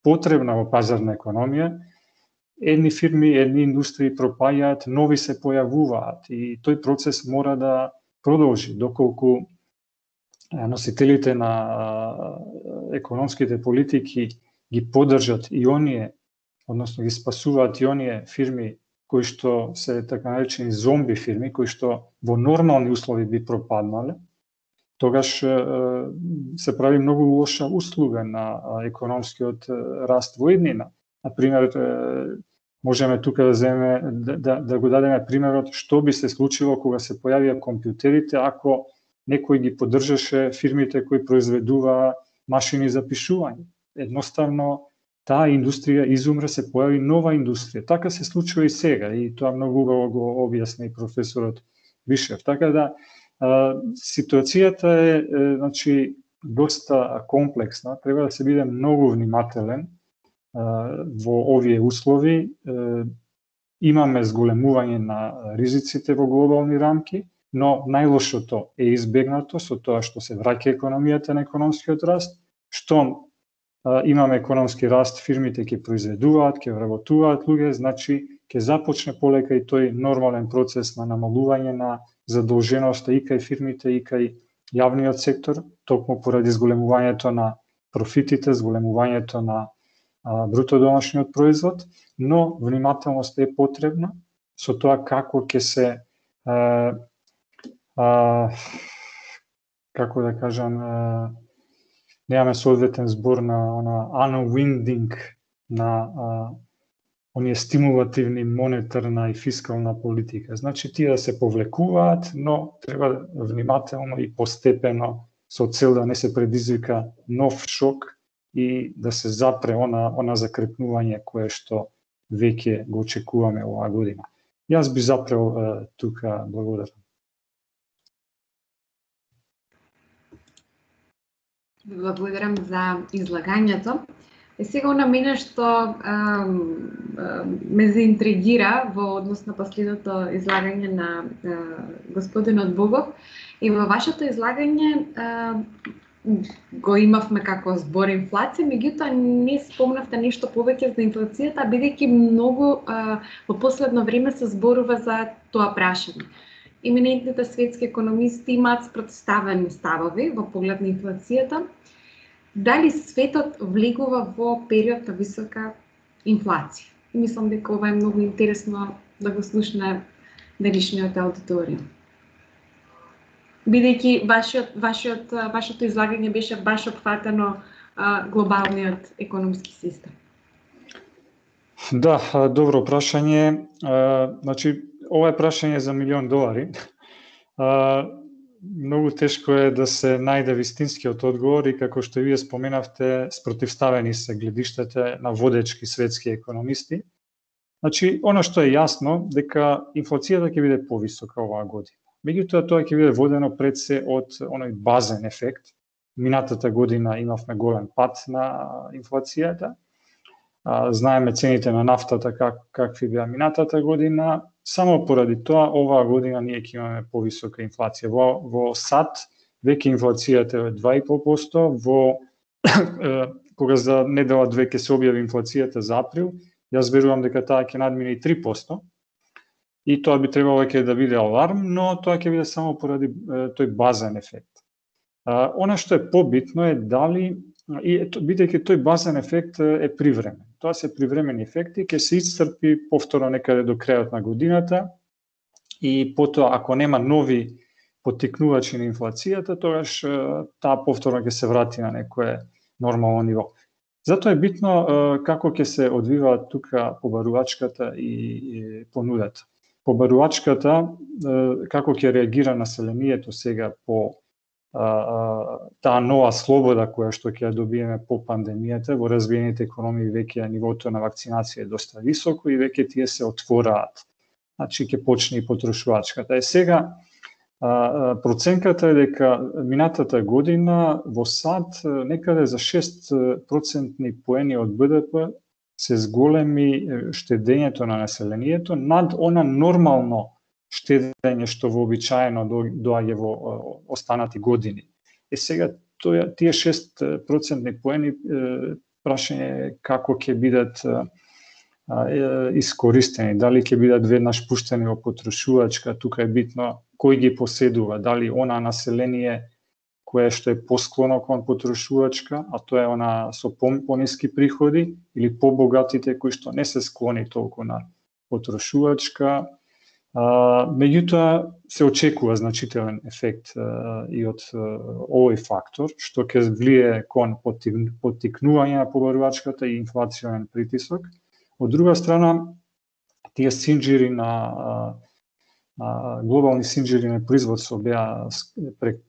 потребна во пазарна економија, едни фирми, едни индустрии пропаѓаат, нови се појавуваат и тој процес мора да продолжи, доколку носителите на економските политики ги поддржат и оние, односно ги спасуваат и оние фирми кои што се така наречени зомби фирми, кои што во нормални услови би пропаднале, тогаш се прави многу лоша услуга на економскиот раст во иднина. Например, можеме тука да земеме да, да, да го дадеме примерот што би се случило кога се појавија компјутерите ако некој ги поддржаше фирмите кои произведува машини за пишување. Едноставно таа индустрија изумре, се појави нова индустрија. Така се случува и сега и тоа многу убаво го објасни професорот Бишев. Така да ситуацијата е, е значи доста комплексна, треба да се биде многу внимателен е, во овие услови. Е, имаме зголемување на ризиците во глобални рамки, но најлошото е избегнато со тоа што се враќа економијата на економскиот раст, што е, имаме економски раст, фирмите ќе произведуваат, ќе вработуваат луѓе, значи ќе започне полека и тој нормален процес на намалување на задолженоста и кај фирмите и кај јавниот сектор, токму поради зголемувањето на профитите, зголемувањето на а, бруто домашниот производ, но внимателност е потребна со тоа како ќе се а, а, како да кажам, а, немаме соодветен збор на она unwinding на а, оние стимулативни монетарна и фискална политика. Значи тие да се повлекуваат, но треба внимателно и постепено со цел да не се предизвика нов шок и да се запре она, она закрепнување кое што веќе го очекуваме оваа година. Јас би запрел е, тука, благодарам. Благодарам за излагањето. И сега на мене што а, а, ме заинтригира во однос на последното излагање на а, господинот Богов, и во вашето излагање а, го имавме како збор инфлација, меѓутоа не спомнавте нешто повеќе за инфлацијата, бидејќи многу а, во последно време се зборува за тоа прашање. Еминентните светски економисти имаат спротставени ставови во поглед на инфлацијата. Дали светот влегува во период на висока инфлација? И мислам дека ова е многу интересно да го слушне денешниот аудиториум. Бидејќи вашиот, вашиот, вашето излагање беше баш опфатено а, глобалниот економски систем. Да, добро прашање. Значи, ова е прашање за милион долари. Многу тешко е да се најде вистинскиот одговор и како што вие споменавте, спротивставени се гледиштата на водечки светски економисти. Значи, она што е јасно, дека инфлацијата ќе биде повисока оваа година. Меѓутоа, тоа ќе биде водено пред се од оној базен ефект. Минатата година имавме голем пад на инфлацијата. Знаеме цените на нафтата как, какви беа минатата година. Само поради тоа, оваа година ние ќе имаме повисока инфлација. Во, во САД веќе инфлацијата е два и пол проценти, во кога за недела две ќе се објави инфлацијата за април, јас верувам дека таа ќе надмине и три проценти. И тоа би требало ќе да биде аларм, но тоа ќе биде само поради е, тој базен ефект. А, она што е побитно е дали, и бидејќи тој базен ефект е привремен. Тоа се привремени ефекти, ќе се исцрпи повторно некаде до крајот на годината и потоа ако нема нови поттикнувачи на инфлацијата, тогаш таа повторно ќе се врати на некое нормално ниво. Затоа е битно како ќе се одвива тука побарувачката и, и понудата. Побарувачката, како ќе реагира населението сега по таа нова слобода која што ќе добиеме по пандемијата, во развиените економии веќе нивото на вакцинација е доста високо и веќе тие се отвораат. Значи ќе почне и потрошувачката. Е сега проценката е дека минатата година во САД некаде за шест процентни поени од БДП се зголеми штедењето на населението над она нормално штедење што вообичаено доаѓа во останати години. Е сега тоа тие шест процентни поени прашање како ќе бидат искористени, дали ќе бидат веднаш пуштени во потрошувачка, тука е битно кој ги поседува, дали она население кое што е посклоно кон потрошувачка, а тоа е она со пониски приходи, или побогатите кои што не се склони толку на потрошувачка. Uh, меѓутоа се очекува значителен ефект uh, и од uh, овој фактор, што ќе влие кон поттикнување на побарувачката и инфлационен притисок. Од друга страна, тие синџири на uh, uh, глобални синџири на производство беа,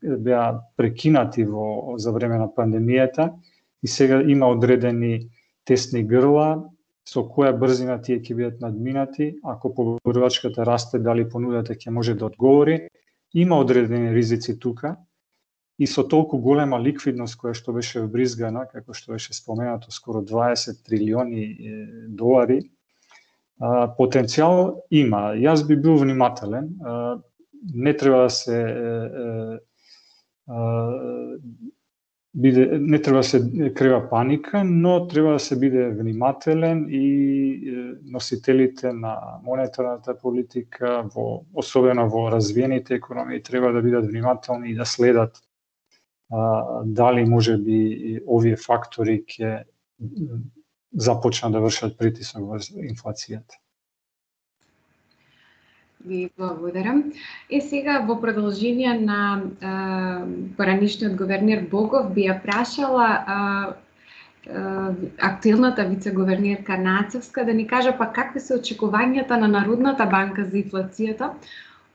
беа прекинати во, за време на пандемијата и сега има одредени тесни грла, со која брзина тие ќе бидат надминати, ако побарувачката расте, дали понудата ќе може да одговори. Има одредени ризици тука и со толку голема ликвидност која што беше вбризгана, како што беше споменато, скоро дваесет трилиони долари, потенцијал има. Јас би бил внимателен, не треба да се биде, не треба да се крева паника, но треба да се биде внимателен и носителите на монетарната политика, во, особено во развиените економии, треба да бидат внимателни и да следат а, дали може би овие фактори ќе започнат да вршат притисок во инфлацијата. Ви благодарам. Е сега во продолжение на е, поранишниот говернер Богов би ја прашала е, е, актуелната вице-говернерка Нацевска да ни каже па какви се очекувањата на Народната банка за инфлацијата,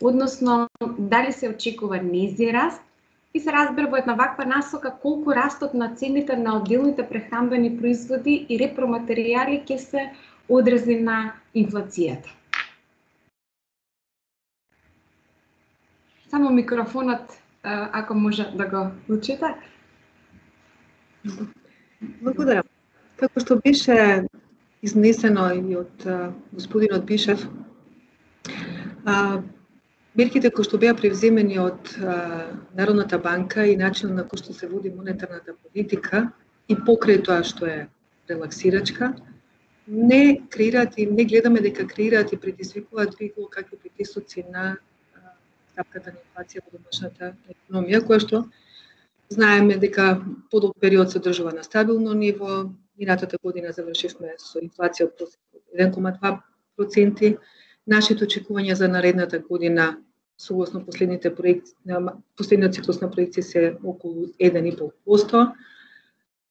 односно дали се очекува низи раст и се разбира во една ваква насока колку растот на цените на одделните прехранбени производи и репроматеријали ќе се одрази на инфлацијата. Само микрофонот, ако може да го включите. Благодарам. Како што беше изнесено и од господинот Бишев, мерките кои што беа превземени од Народната банка и начинот на кој што се води монетарната политика и покрај тоа што е релаксирачка, не креираат и не гледаме дека креираат и предизвикуваат било какви притисоци на стапката на инфлација во домашната економија, која што знаеме дека подолг период се одржува на стабилно ниво. Минатата година завршивме со инфлација од еден кома два проценти. Нашите очекувања за наредната година, согласно последните проекти, последниот циклус на проекции се околу еден и пол проценти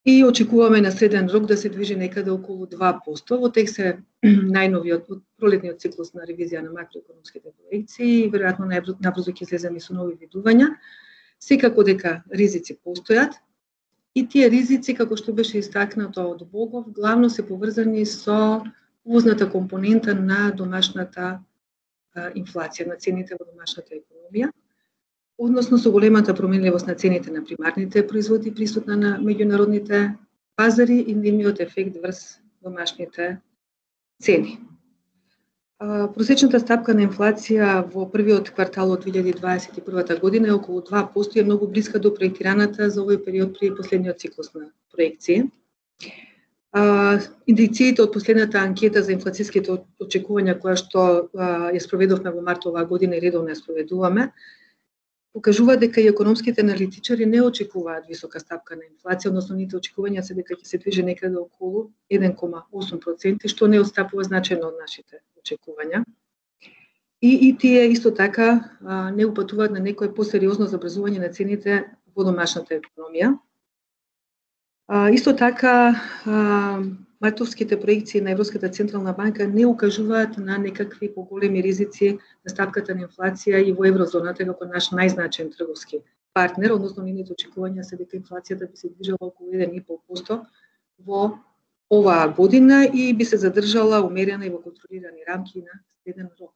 и очекуваме на среден рок да се движи некаде околу два проценти. Во тек се најновиот пролетниот циклус на ревизија на макроекономските проекции и веројатно набрзо ќе излеземе со нови видувања. Секако дека ризици постојат и тие ризици, како што беше истакнато од Богов, главно се поврзани со увозната компонента на домашната а, инфлација, на цените во домашната економија, односно со големата променливост на цените на примарните производи присутна на меѓународните пазари и нивниот ефект врз домашните цени. Просечната стапка на инфлација во првиот квартал од две илјади дваесет и прва година е околу два проценти и е многу блиска до проектираната за овој период при последниот циклус на проекции. Индикациите од последната анкета за инфлацијските очекувања која што ја спроведовме во март оваа година и редовно ја спроведуваме, покажува дека и економските аналитичари не очекуваат висока стапка на инфлација, односно нивните очекувања се дека ќе се движи некаде околу еден кома осум проценти, што не отстапува значајно од нашите очекувања. И, и тие исто така а, не упатуваат на некое посериозно забрзување на цените во домашната економија. А, исто така, а, мартовските проекции на Европската централна банка не укажуваат на некакви поголеми ризици на стапката на инфлација и во еврозоната како наш најзначаен трговски партнер, односно нивните очекувања се дека инфлацијата би се движела околу еден и пол проценти во оваа година и би се задржала умерена и во контролирани рамки на среден рок.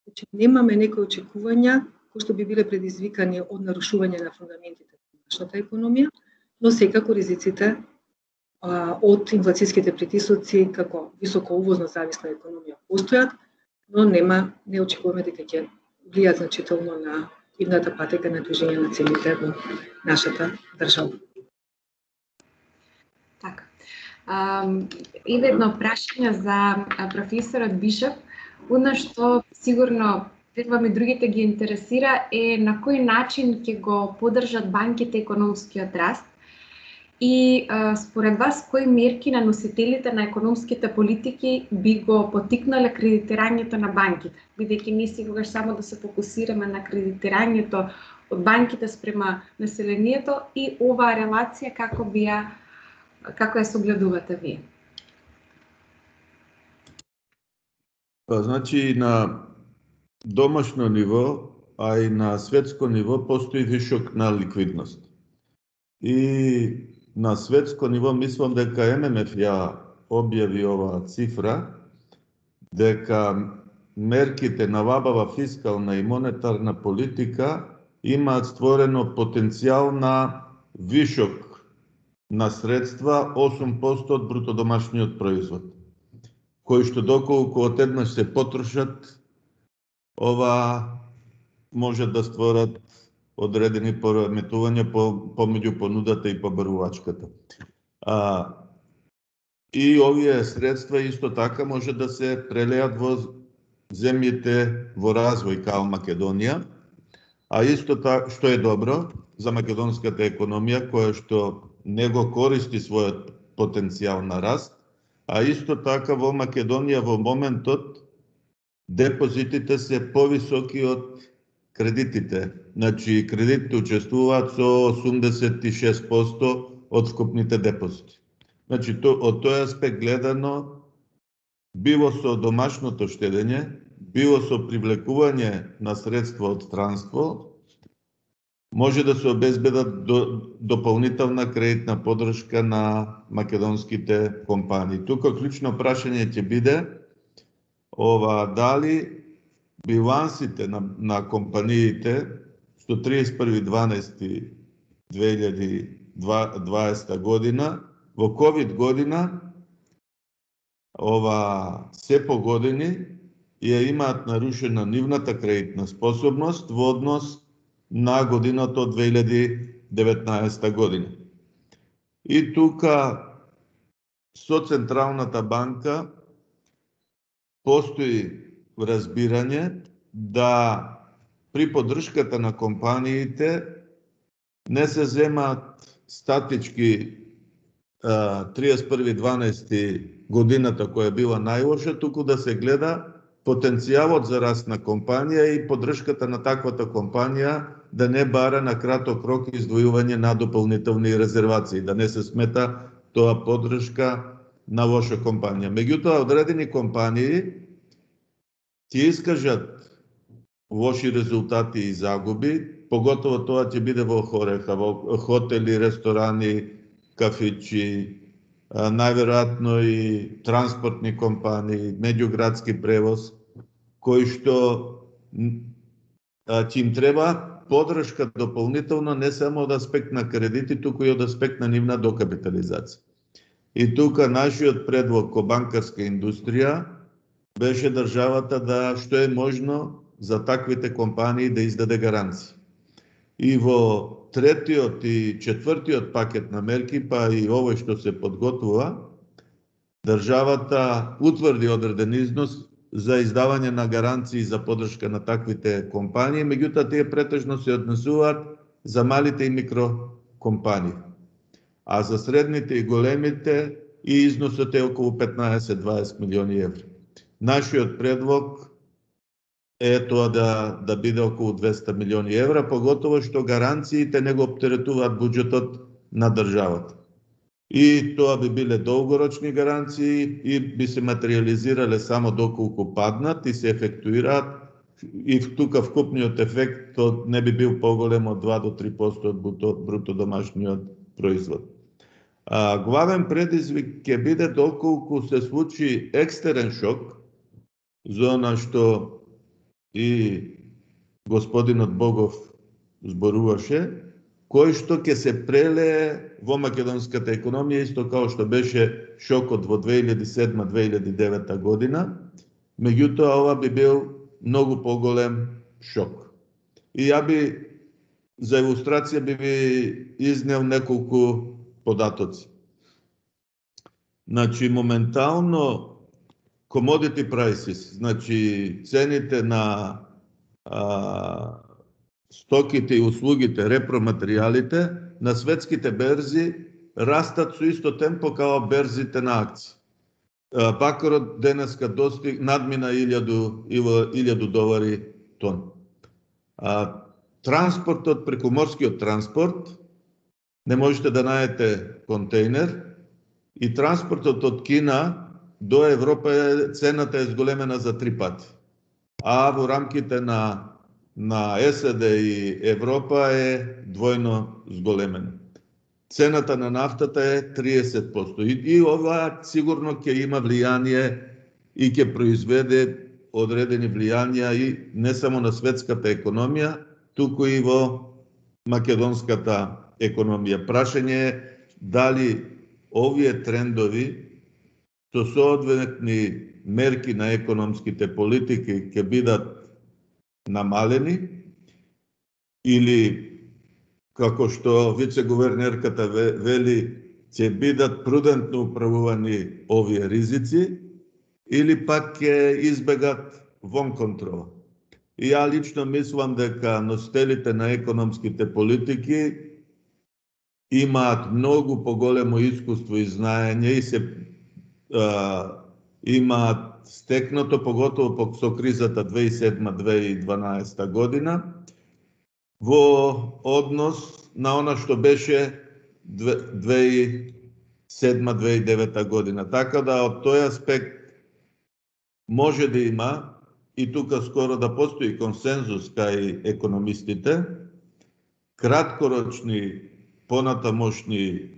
Значи немаме некои очекувања кои што би биле предизвикани од нарушување на фундаментите на нашата економија, но секако ризиците а, од инфлацијските притисоци како високо увозно зависна економија постојат, но нема не очекуваме дека ќе влијат значително на идната патека на движење на цените во нашата држава. Така. Um, и едно прашање за професорот Бишев, одно што сигурно верувам и другите ги интересира е на кој начин ќе го поддржат банките економскиот раст и а, според вас кои мерки на носителите на економските политики би го поттикнале кредитирањето на банките, бидејќи ние секогаш само да се фокусираме на кредитирањето од банките спрема населението и оваа релација како би ја како ја согледувате вие? Па, значи, на домашно ниво, а и на светско ниво постои вишок на ликвидност. И на светско ниво мислам дека Ем Ем Еф ја објави оваа цифра, дека мерките на вабава фискална и монетарна политика имаат створено потенцијал на вишок на средства осум проценти од брутодомашниот производ, кои што доколку одеднаш се потрошат, ова може да створат одредени пореметувања по, помеѓу понудата и побарувачката. А, и овие средства исто така може да се прелеат во земјите во развој као Македонија, а исто така што е добро за македонската економија која што не го користи својот потенцијал на раст, а исто така во Македонија во моментот депозитите се повисоки од кредитите. Значи, кредитите учествуваат со осумдесет и шест проценти од вкупните депозити. Значи, то, од тој аспект гледано, било со домашното штедење, било со привлекување на средства од странство, може да се обезбедат до, дополнителна кредитна подршка на македонските компании. Тука клучно прашање ќе биде ова дали билансите на, на компаниите што триесет и први дванаести две илјади и дваесета година, во ковид година, ова се по години ја имаат нарушена нивната кредитна способност во однос на годината од две илјади и деветнаесета година. И тука со Централната банка постои разбирање да при поддршката на компаниите не се земаат статички триесет и први дванаести годината која била најлоша, туку да се гледа потенцијалот за раст на компанија и поддршката на таквата компанија да не бара на краток рок издвојување на дополнителни резервации, да не се смета тоа поддршка на лоша компанија. Меѓутоа, одредени компании ќе искажат лоши резултати и загуби, поготово тоа ќе биде во Хореха, во хотели, ресторани, кафичи, најверојатно и транспортни компании, меѓуградски превоз, кои што ќе им треба поддршка дополнително не само од аспект на кредити, туку и од аспект на нивна докапитализација. И тука нашиот предлог ко банкарска индустрија беше државата да што е можно за таквите компании да издаде гаранции. И во третиот и четвртиот пакет на мерки, па и овој што се подготвува, државата утврди одреден износ за издавање на гаранции за поддршка на таквите компании, меѓутоа тие претежно се однесуваат за малите и микрокомпании. А за средните и големите и износот е околу петнаесет до дваесет милиони евра. Нашиот предлог е тоа да, да биде околу двесте милиони евра, поготово што гаранциите не го оптеретуваат буџетот на државата. И тоа би биле долгорочни гаранции и би се материализирале само доколку паднат и се ефектуираат, и тука вкупниот ефект не би бил поголем од два до три проценти од бруто домашниот производ. А, главен предизвик ќе биде доколку се случи екстерен шок, за она што и господинот Богов зборуваше, кој што ќе се прелее во македонската економија, исто као што беше шокот во две илјади и седма до две илјади и девета година, меѓутоа ова би бил многу поголем шок. И ја би, за илустрација би ви изнел неколку податоци. Значи, моментално commodity prices, значи цените на а, стоките и услугите, репроматеријалите на светските берзи растат со исто темпо као берзите на акции. Бакарот денеска достиг надмина илјаду долари тон. А, транспортот, прекуморскиот транспорт, не можете да најдете контейнер, и транспортот од Кина до Европа цената е зголемена за три пати. А во рамките на на САД и Европа е двојно зголемена. Цената на нафтата е триесет проценти. И, и ова сигурно ќе има влијание и ќе произведе одредени влијанија и не само на светската економија, туку и во македонската економија. Прашање е дали овие трендови со соодветни мерки на економските политики ќе бидат намалени или како што вице-гувернерката вели, ќе бидат прудентно управувани овие ризици, или пак ќе избегат вон контрола. И ја лично мислам дека носителите на економските политики имаат многу поголемо искуство и знаење и се а, имаат стекнато, поготово со кризата две илјади и седма - две илјади и дванаесета година, во однос на она што беше две илјади и седма - две илјади и девета година. Така да од тој аспект може да има, и тука скоро да постои консензус кај економистите, краткорочни понатамошни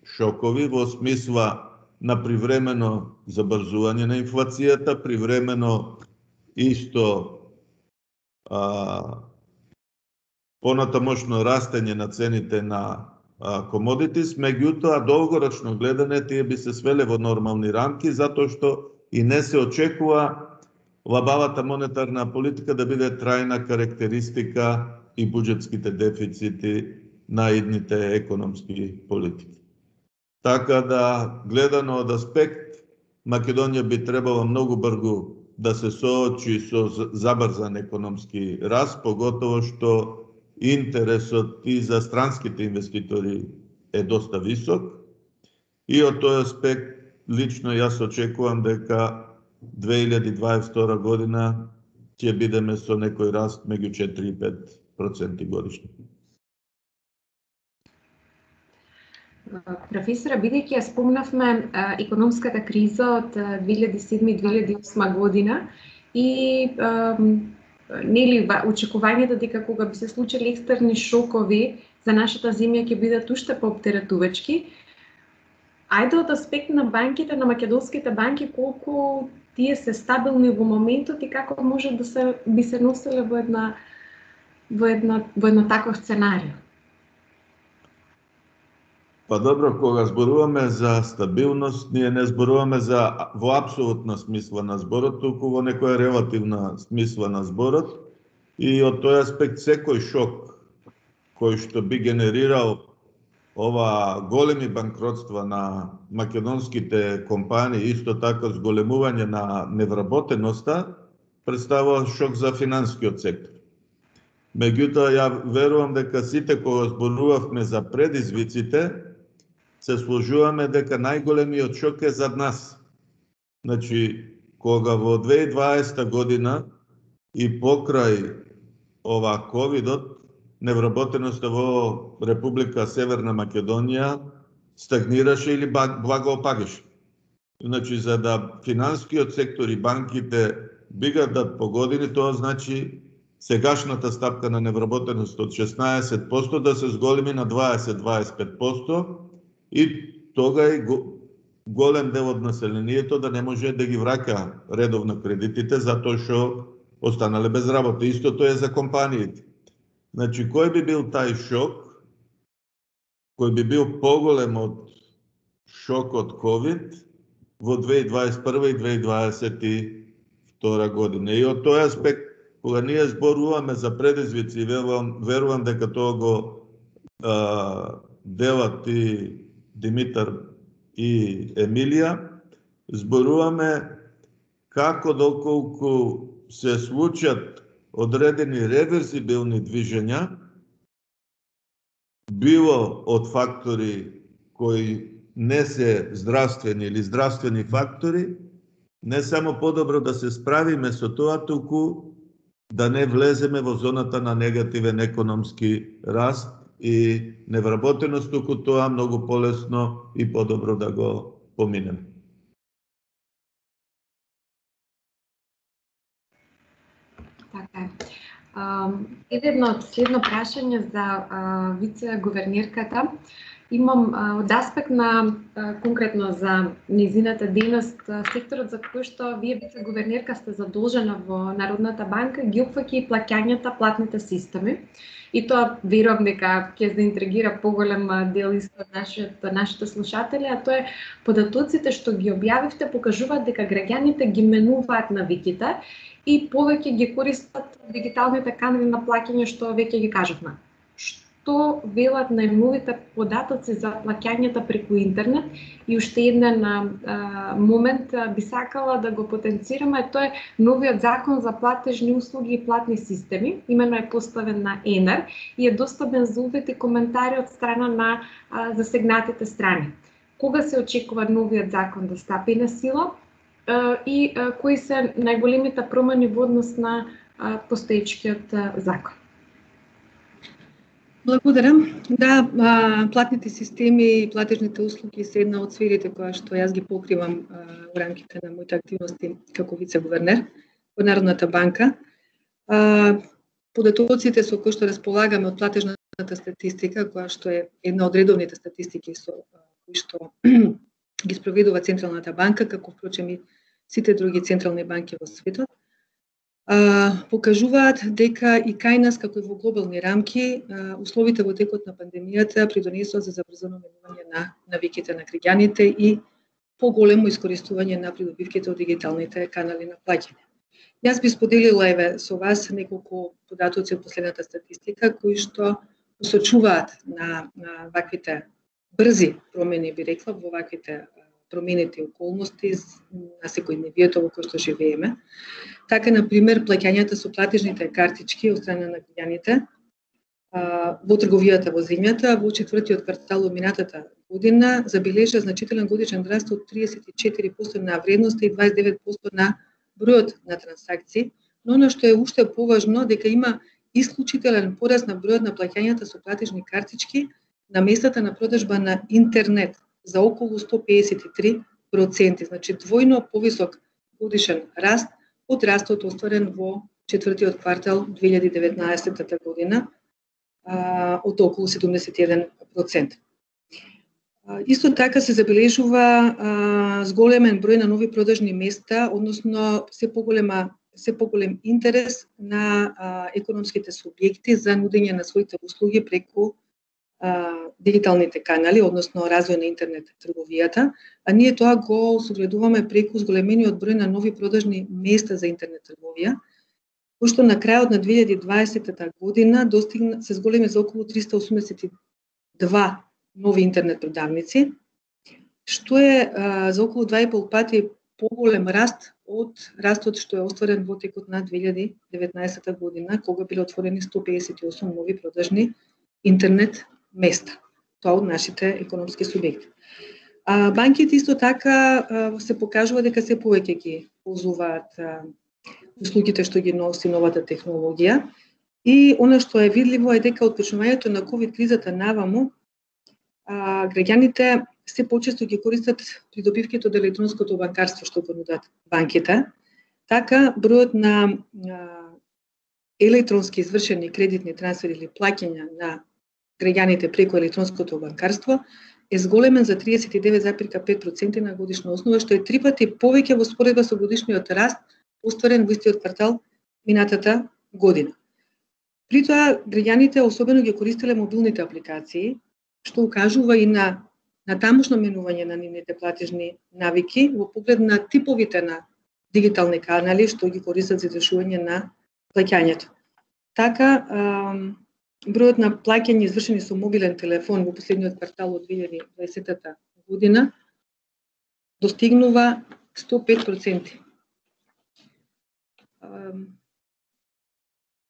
шокови во смисла на привремено забрзување на инфлацијата, привремено исто а, понатамошно растење на цените на а, комодитис, меѓутоа долгорочно гледане тие би се свеле во нормални рамки, затоа што и не се очекува лабавата монетарна политика да биде трајна карактеристика и буџетските дефицити на идните економски политики. Така да, гледано од аспект, Македонија би требала многу брзо да се соочи со забрзан економски раст, поготово што интересот и за странските инвеститори е доста висок. И од тој аспект, лично јас очекувам дека две илјади и дваесет и втора година ќе бидеме со некој раст меѓу четири и пет проценти годишно. Професора, бидејќи ја спомнавме економската криза од две илјади и седма и две илјади и осма година и нели очекувањето дека кога би се случили екстерни шокови за нашата земја ќе бидат уште пооптеретувачки, ајде од аспект на банките, на македонските банки, колку тие се стабилни во моментот и како може да се би се носеле во една во една во едно таков сценарио? Па добро, кога зборуваме за стабилност, ние не зборуваме за во апсолутна смисла на зборот, туку во некоја релативна смисла на зборот. И од тој аспект секој шок кој што би генерирал ова големи банкротства на македонските компании, исто така зголемување на невработеноста, представува шок за финансискиот сектор. Меѓутоа, ја верувам дека сите кога зборувавме за предизвиците, се сложуваме дека најголемиот шок е зад нас. Значи, кога во две илјади и дваесета година и покрај ова ковидот, невработеноста во Република Северна Македонија стагнираше или благо опагаше. Значи, за да финансискиот сектор и банките бигат по години, тоа значи сегашната стапка на невработеност од шеснаесет проценти да се зголеми на дваесет до дваесет и пет проценти и тога и голем дел од населението да не може да ги враќа редовно кредитите затоа што останале без работа. Истото е за компаниите. Значи, кој би бил тај шок, кој би бил поголем од шокот ковид во две илјади и дваесет и прва и две илјади и дваесет и втора година. И од тој аспект, кога ние зборуваме за предизвици, верувам, верувам дека тоа го а, делат и Димитар и Емилија, зборуваме како доколку се случат одредени реверзибилни движења, било од фактори кои не се здравствени или здравствени фактори, не само подобро да се справиме со тоа, туку да не влеземе во зоната на негативен економски раст и невработеност, туку тоа многу полесно и подобро да го поминеме. Така е. Едно следно прашање за вице-гувернерката. Имам а, од аспект на а, конкретно за низината дејност, а, секторот за кој што вие вице-гувернерка сте задолжена во Народната банка ги опфаќа и плаќањата, платните системи. И тоа верувам дека ќе заинтригира поголем дел исто нашите нашите слушатели, а тоа е податоците што ги објавивте покажуваат дека граѓаните ги менуваат навиките и повеќе ги користат дигиталните канали на плаќање што веќе ги кажавме. Што велат најновите податоци за плаќањата преку интернет и уште еден а, момент а, би сакала да го потенцираме, тоа е новиот закон за платежни услуги и платни системи, имено е поставен на ЕНЕР и е достапен за увид и коментари од страна на а, засегнатите страни. Кога се очекува новиот закон да стапи на сила а, и а, кои се најголемите промени во однос на а, постоечкиот а, закон? Благодарам. Да, платните системи и платежните услуги се една од сферите која што јас ги покривам во рамките на моите активности како вице-гувернер во Народната банка. Податоците со кои што располагаме од платежната статистика, која што е една од редовните статистики со кои што ги спроведува Централната банка, како впрочем и сите други централни банки во светот, покажуваат дека и кај нас, како и во глобални рамки, условите во текот на пандемијата придонесоа за забрзано менување на навиките на граѓаните и поголемо искористување на придобивките од дигиталните канали на плаќање. Јас би споделила еве со вас неколку податоци од последната статистика кои што посочуваат на, на ваквите брзи промени, би рекла, во ваквите променети околности на секојдневието во кој што живееме. Така, например, плаќањата со платежните картички од страна на граѓаните во трговијата во земјата во четвртиот квартал од минатата година забележа значителен годишен раст од триесет и четири проценти на вредноста и дваесет и девет проценти на бројот на трансакции, но она што е уште поважно дека има исклучителен пораст на бројот на плаќањата со платежни картички на местата на продажба на интернет за околу сто пеесет и три проценти, значи двојно повисок годишен раст од растот остварен во четвртиот квартал две илјади и деветнаесетта година од околу седумдесет и еден проценти. Исто така се забележува зголемен број на нови продажни места, односно се поголема се поголем интерес на економските субјекти за нудење на своите услуги преку дигиталните канали, односно развој на интернет трговијата, а ние тоа го согледуваме преку зголемениот број на нови продажни места за интернет трговија, кој што на крајот на две илјади и дваесетта година достигна се зголеми за околу триста осумдесет и два нови интернет продавници, што е а, за околу два и пол пати поголем раст од растот што е остварен во текот на две илјади и деветнаесетта година, кога биле отворени сто пеесет и осум нови продажни интернет места. Тоа од нашите економски субјекти. А, банките исто така а, се покажува дека се повеќе ги ползуваат а, услугите што ги носи новата технологија и она што е видливо е дека од почнувањето на ковид кризата наваму а, граѓаните се почесто ги користат придобивките од електронското банкарство што го нудат банките. Така бројот на а, електронски извршени кредитни трансфери или плаќања на граѓаните преку електронското банкарство е зголемен за триесет и девет зарез пет проценти на годишна основа, што е три пати повеќе во споредба со годишниот раст остварен во истиот квартал минатата година. При тоа, граѓаните особено ги користеле мобилните апликации, што укажува и на, на тамошно менување на нивните платежни навики во поглед на типовите на дигитални канали што ги користат за извршување на плаќањето. Така, ам, бројот на плаќања извршени со мобилен телефон во последниот квартал од две илјади и дваесетта година достигнува сто пет проценти.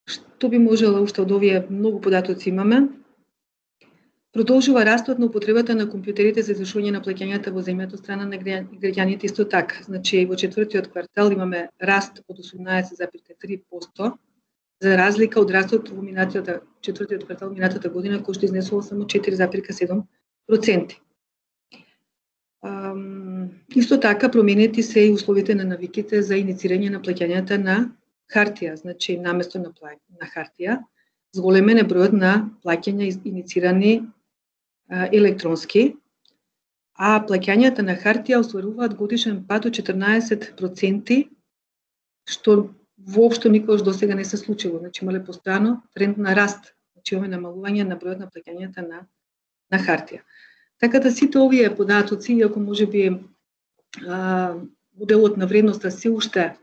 Што би можела уште од овие многу податоци имаме? Продолжува растот на употребата на компјутерите за извршување на плаќањата во земјата од страна на граѓаните исто така. Значи во четвртиот квартал имаме раст од осумнаесет зарез три проценти, за разлика од растот во минатата четвртиот квартал минатата година кој што изнесува само четири зарез седум проценти. Исто така променети се и условите на навиките за иницирање на плаќањата на хартија, значи наместо на, плаќ... на хартија, зголемен е бројот на плаќања иницирани електронски, а плаќањата на хартија остваруваат годишен пад од четрнаесет проценти, што воопшто никогаш досега не се случило. Значи имале постојано тренд на раст, значи имаме намалување на бројот на плаќањата на на хартија. Така да сите овие податоци, иако можеби моделот на вредноста се уште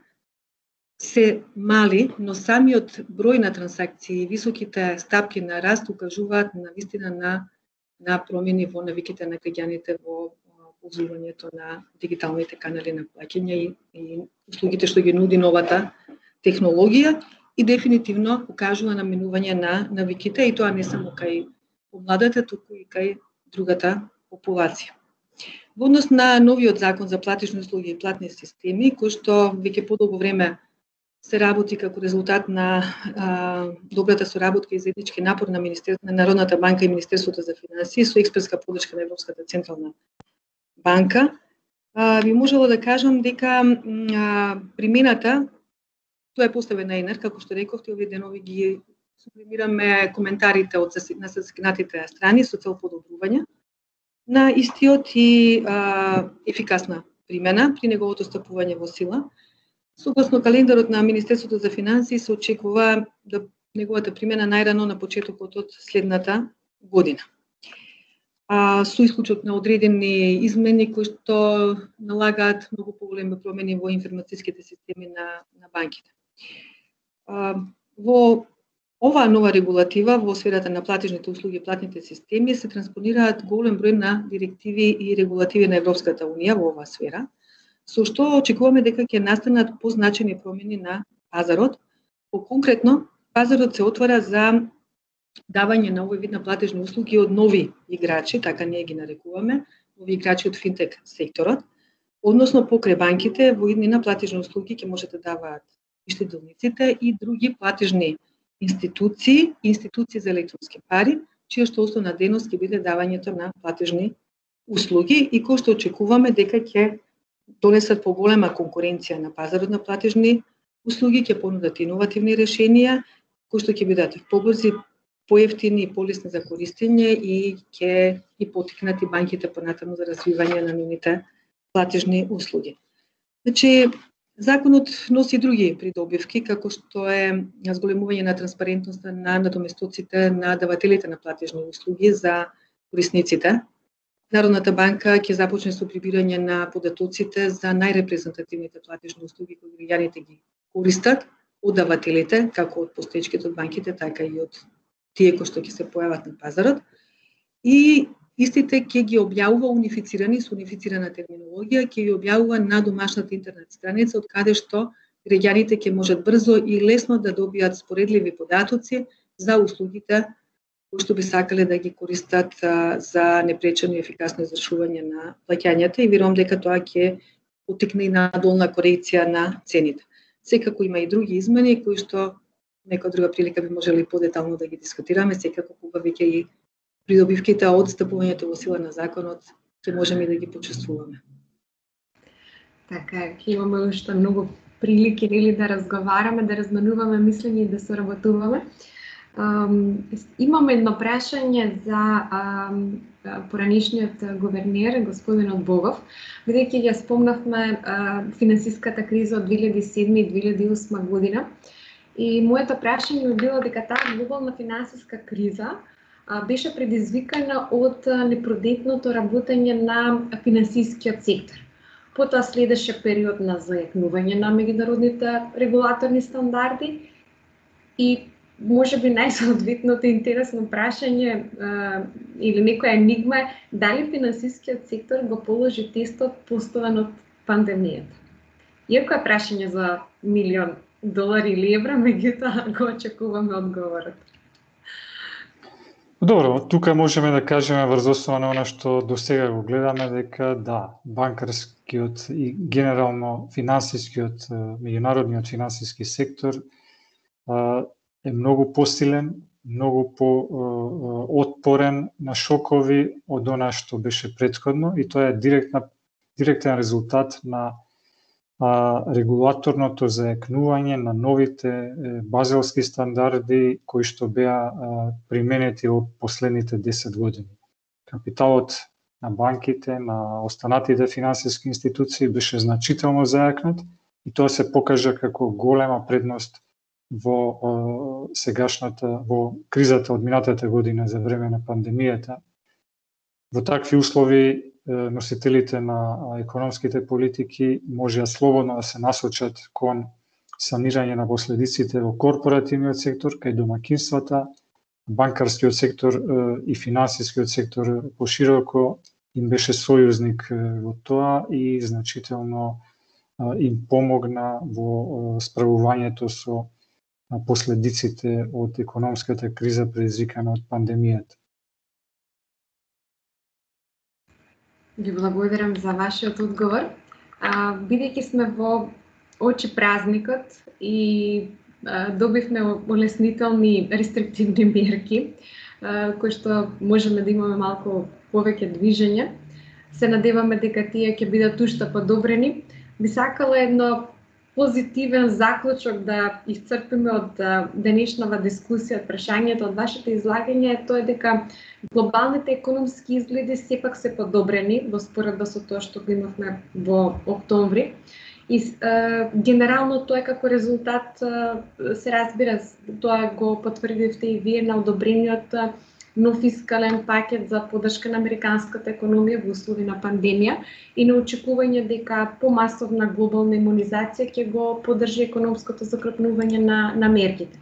се мали, но самиот број на трансакции и високите стапки на раст укажуваат на вистина на на промени во навиките на граѓаните во ползувањето на дигиталните канали на плаќање и, и услугите што ги нуди новата технологија и дефинитивно укажува на менување на навиките и тоа не само кај помладата, туку и кај другата популација. Во однос на новиот закон за платежни услуги и платни системи, кој што веќе подолго време се работи како резултат на а, добрата соработка и заеднички напор на Министерството на Народната банка и Министерството за финансии со експертска подршка на Европската централна банка, а, би можело да кажам дека а, примената, тоа е поставена инер, како што рековте, овие денови ги сублимираме коментарите од на засегнатите страни со цел подобрување на истиот и а, ефикасна примена при неговото стапување во сила. Согласно календарот на Министерството за финансии се очекува да неговата примена најрано на почетокот од следната година. А, со исклучок на одредени измени кои што налагаат многу поголеми промени во информацијските системи на, на банките. А, во оваа нова регулатива во сферата на платежните услуги и платните системи се транспонираат голем број на директиви и регулативи на Европската унија во оваа сфера, со што очекуваме дека ќе настанат позначени промени на пазарот. По-конкретно, пазарот се отвара за давање на овој вид на платежни услуги од нови играчи, така ние ги нарекуваме, нови играчи од финтек секторот, односно покрај банките во иднина платежни услуги ќе можат да даваат и штедилниците и други платежни институции, институции за електронски пари, чија што основна дејност ќе биде давањето на платежни услуги и кој што очекуваме дека ќе донесат поголема конкуренција на пазарот на платежни услуги, ќе понудат иновативни решенија кои што ќе бидат побрзи, поевтини и полесни за користење и ќе ги поттикнат и банките понатаму за развивање на нивните платежни услуги. Значи, законот носи други придобивки, како што е зголемување на транспарентноста на надоместоците на давателите на платежни услуги за корисниците. Народната банка ќе започне со прибирање на податоците за најрепрезентативните платежни услуги кои граѓаните ги користат од давателите, како од постоечките од банките, така и од тие кои што ќе се појават на пазарот. И истите ќе ги објавува унифицирани со унифицирана терминологија, ќе ги објавува на домашната интернет страница, од каде што граѓаните ќе можат брзо и лесно да добијат споредливи податоци за услугите кои што би сакале да ги користат а, за непречено и ефикасно извршување на плаќањата и верувам дека тоа ќе поттикне и на долна корекција на цените. Секако има и други измени кои што некоја друга прилика би можеле подетално да ги дискутираме, секако кога веќе и придобивките од стапувањето во сила на законот ќе можеме да ги почувствуваме. Така, ќе имаме уште многу прилики нели да разговараме, да разменуваме мислења и да соработуваме. Um, имам едно прашање за um, поранишниот гувернер, господинот Богов, бидејќи ја спомнавме uh, финансиската криза од две илјади и седма и две илјади и осма година. И моето прашање би било дека таа глобална финансиска криза uh, беше предизвикана од uh, непродетното работење на финансискиот сектор. Потоа следеше период на зајакнување на меѓународните регулаторни стандарди и може би најсоодветното интересно прашање а, или некоја енигма е дали финансискиот сектор го положи тестот поставен од пандемијата. Иако е прашање за милион долари или евра, меѓутоа го очекуваме одговорот. Добро, тука можеме да кажеме врз основа на она што досега го гледаме дека да, банкарскиот и генерално финансискиот, меѓународниот финансиски сектор а, е многу посилен, многу по-отпорен на шокови од она што беше претходно и тоа е директна, директен резултат на а, регулаторното зајакнување на новите е, базелски стандарди кои што беа а, применети во последните десет години. капиталот на банките, на останатите финансиски институции беше значително зајакнат и тоа се покажа како голема предност во о, сегашната, во кризата од минатата година за време на пандемијата. Во такви услови носителите на економските политики можеа слободно да се насочат кон санирање на последиците во корпоративниот сектор, кај домакинствата, банкарскиот сектор и финансискиот сектор пошироко им беше сојузник во тоа и значително им помогна во справувањето со последиците од економската криза предизвикана од пандемијата. Ви благодарам за вашиот одговор. А, бидејќи сме во очи празникот и а, добивме олеснителни рестриктивни мерки, а, кои што можеме да имаме малку повеќе движење, се надеваме дека тие ќе бидат уште подобрени. Би сакала едно позитивен заклучок да исцрпиме од денешнава дискусија, од прашањето, од вашето излагање, е тоа дека глобалните економски изгледи сепак се подобрени во споредба со тоа што го имавме во октомври. И е, генерално тоа е како резултат, е, се разбира, тоа го потврдивте и вие на одобрениот нов фискален пакет за поддршка на американската економија во услови на пандемија и на очекување дека помасовна глобална имунизација ќе го поддржи економското закрепнување на, на мерките.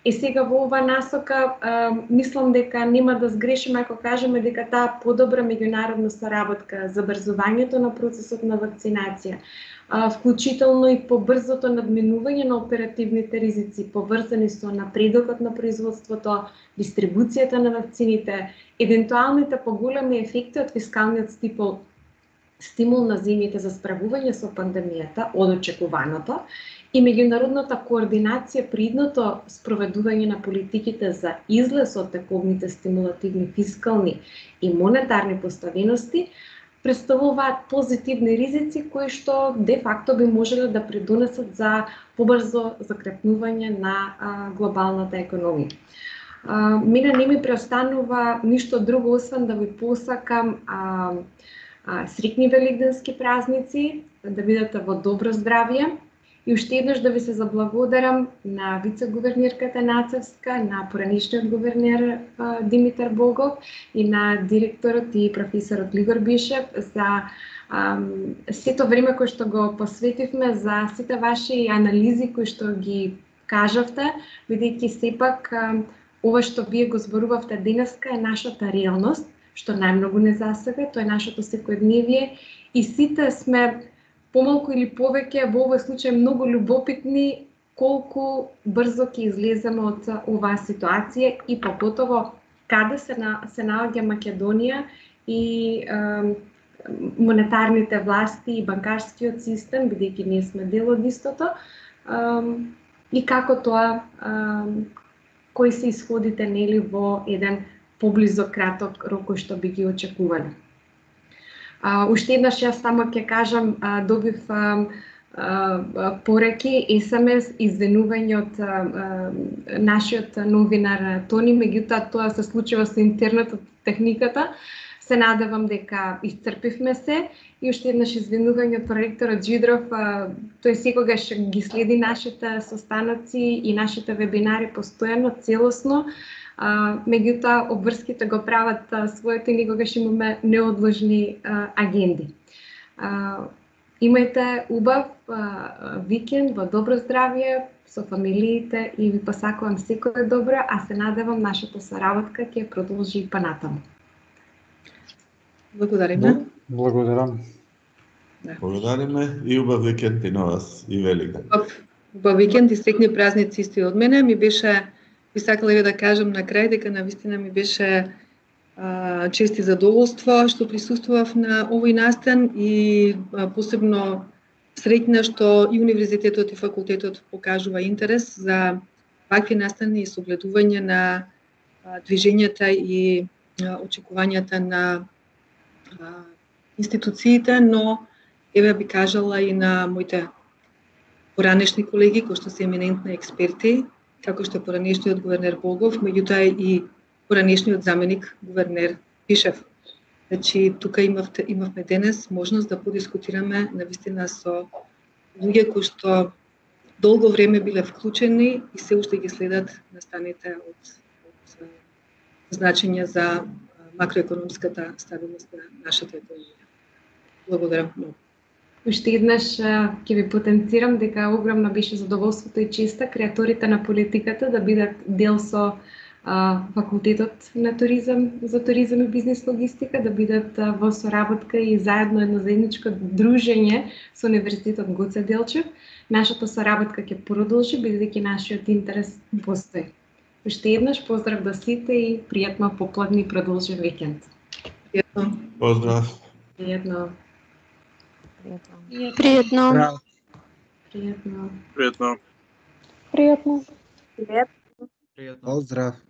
И сега во оваа насока, а, мислам дека нема да сгрешиме ако кажеме дека таа подобра меѓународна соработка, забрзувањето на процесот на вакцинација, а, вклучително и побрзото надминување на оперативните ризици, поврзани со напредокот на производството, дистрибуцијата на вакцините, евентуалните поголеми ефекти од фискалниот стимул, стимул на земјите за справување со пандемијата од очекуваното и меѓународната координација при идното спроведување на политиките за излез од тековните стимулативни фискални и монетарни поставености представуваат позитивни ризици кои што де факто би можеле да придонесат за побрзо закрепнување на а, глобалната економија. А, мене не ми преостанува ништо друго освен да ви посакам а, а, среќни великденски празници, да бидете во добро здравје. И уште еднаш да ви се заблагодарам на вице-гувернерката Нацевска, на поранешниот гувернер а, Димитар Болгов и на директорот и професорот Игор Бишев за а, сето време кое што го посветивме, за сите ваши анализи кои што ги кажавте, бидејќи сепак а, ова што вие го зборувавте денеска е нашата реалност, што најмногу не засега, тоа е нашето секојдневие и сите сме помалку или повеќе во овој случај многу љубопитни колку брзо ќе излеземе од оваа ситуација и попотово каде се на, се наоѓа Македонија и е, монетарните власти и банкарскиот систем, бидејќи ние сме дел од истото, е, и како тоа, е, кои се исходите нели во еден поблизок краток рок кој што би ги очекувале. Uh, уште еднаш јас само ќе кажам, uh, добив uh, uh, пореки, ес ем ес, извинување од uh, нашиот новинар Тони, меѓутоа тоа се случува со интернетот, техниката. Се надевам дека исцрпивме се и уште еднаш извинување од проректорот Джидров, uh, тој секогаш ги следи нашите состаноци и нашите вебинари постојано, целосно. Uh, меѓутоа, обврските го прават uh, своето и никогаш имаме неодложни uh, агенди. Uh, имајте убав uh, викенд во добро здравје со фамилиите и ви посакувам секое добро, а се надевам нашата соработка ќе продолжи и понатаму. Благодариме. Благодарам. Благодариме и убав викенд и на вас и Великден. Убав викенд и среќни празници исти од мене. Ми беше Би сакала и да кажам на крај дека навистина ми беше а, чест и задоволство што присуствував на овој настан и а, посебно среќна што и универзитетот и факултетот покажува интерес за вакви настани и согледување на а, движењата и а, очекувањата на а, институциите, но еве би кажала и на моите поранешни колеги кои што се еминентни експерти, како што е поранешниот гувернер Болгов, меѓутоа и поранешниот заменик гувернер Бишев. Значи, тука имавте, имавме денес можност да подискутираме навистина со луѓе кои што долго време биле вклучени и се уште ги следат настаните од, од значење за макроекономската стабилност на нашата економија. Благодарам многу. Уште еднаш ќе ви потенцирам дека огромно беше задоволството и честа креаторите на политиката да бидат дел со а, факултетот на туризам за туризам и бизнес логистика, да бидат а, во соработка и заедно едно заедничко дружење со Универзитетот Гоце Делчев. Нашата соработка ќе продолжи бидејќи нашиот интерес постои. Уште еднаш поздрав до сите и пријатно попладни и продолжен викенд. Пријатно. Поздрав. Пријатно. Пријатно. Пријатно. Пријатно. Пријатно. Поздрав.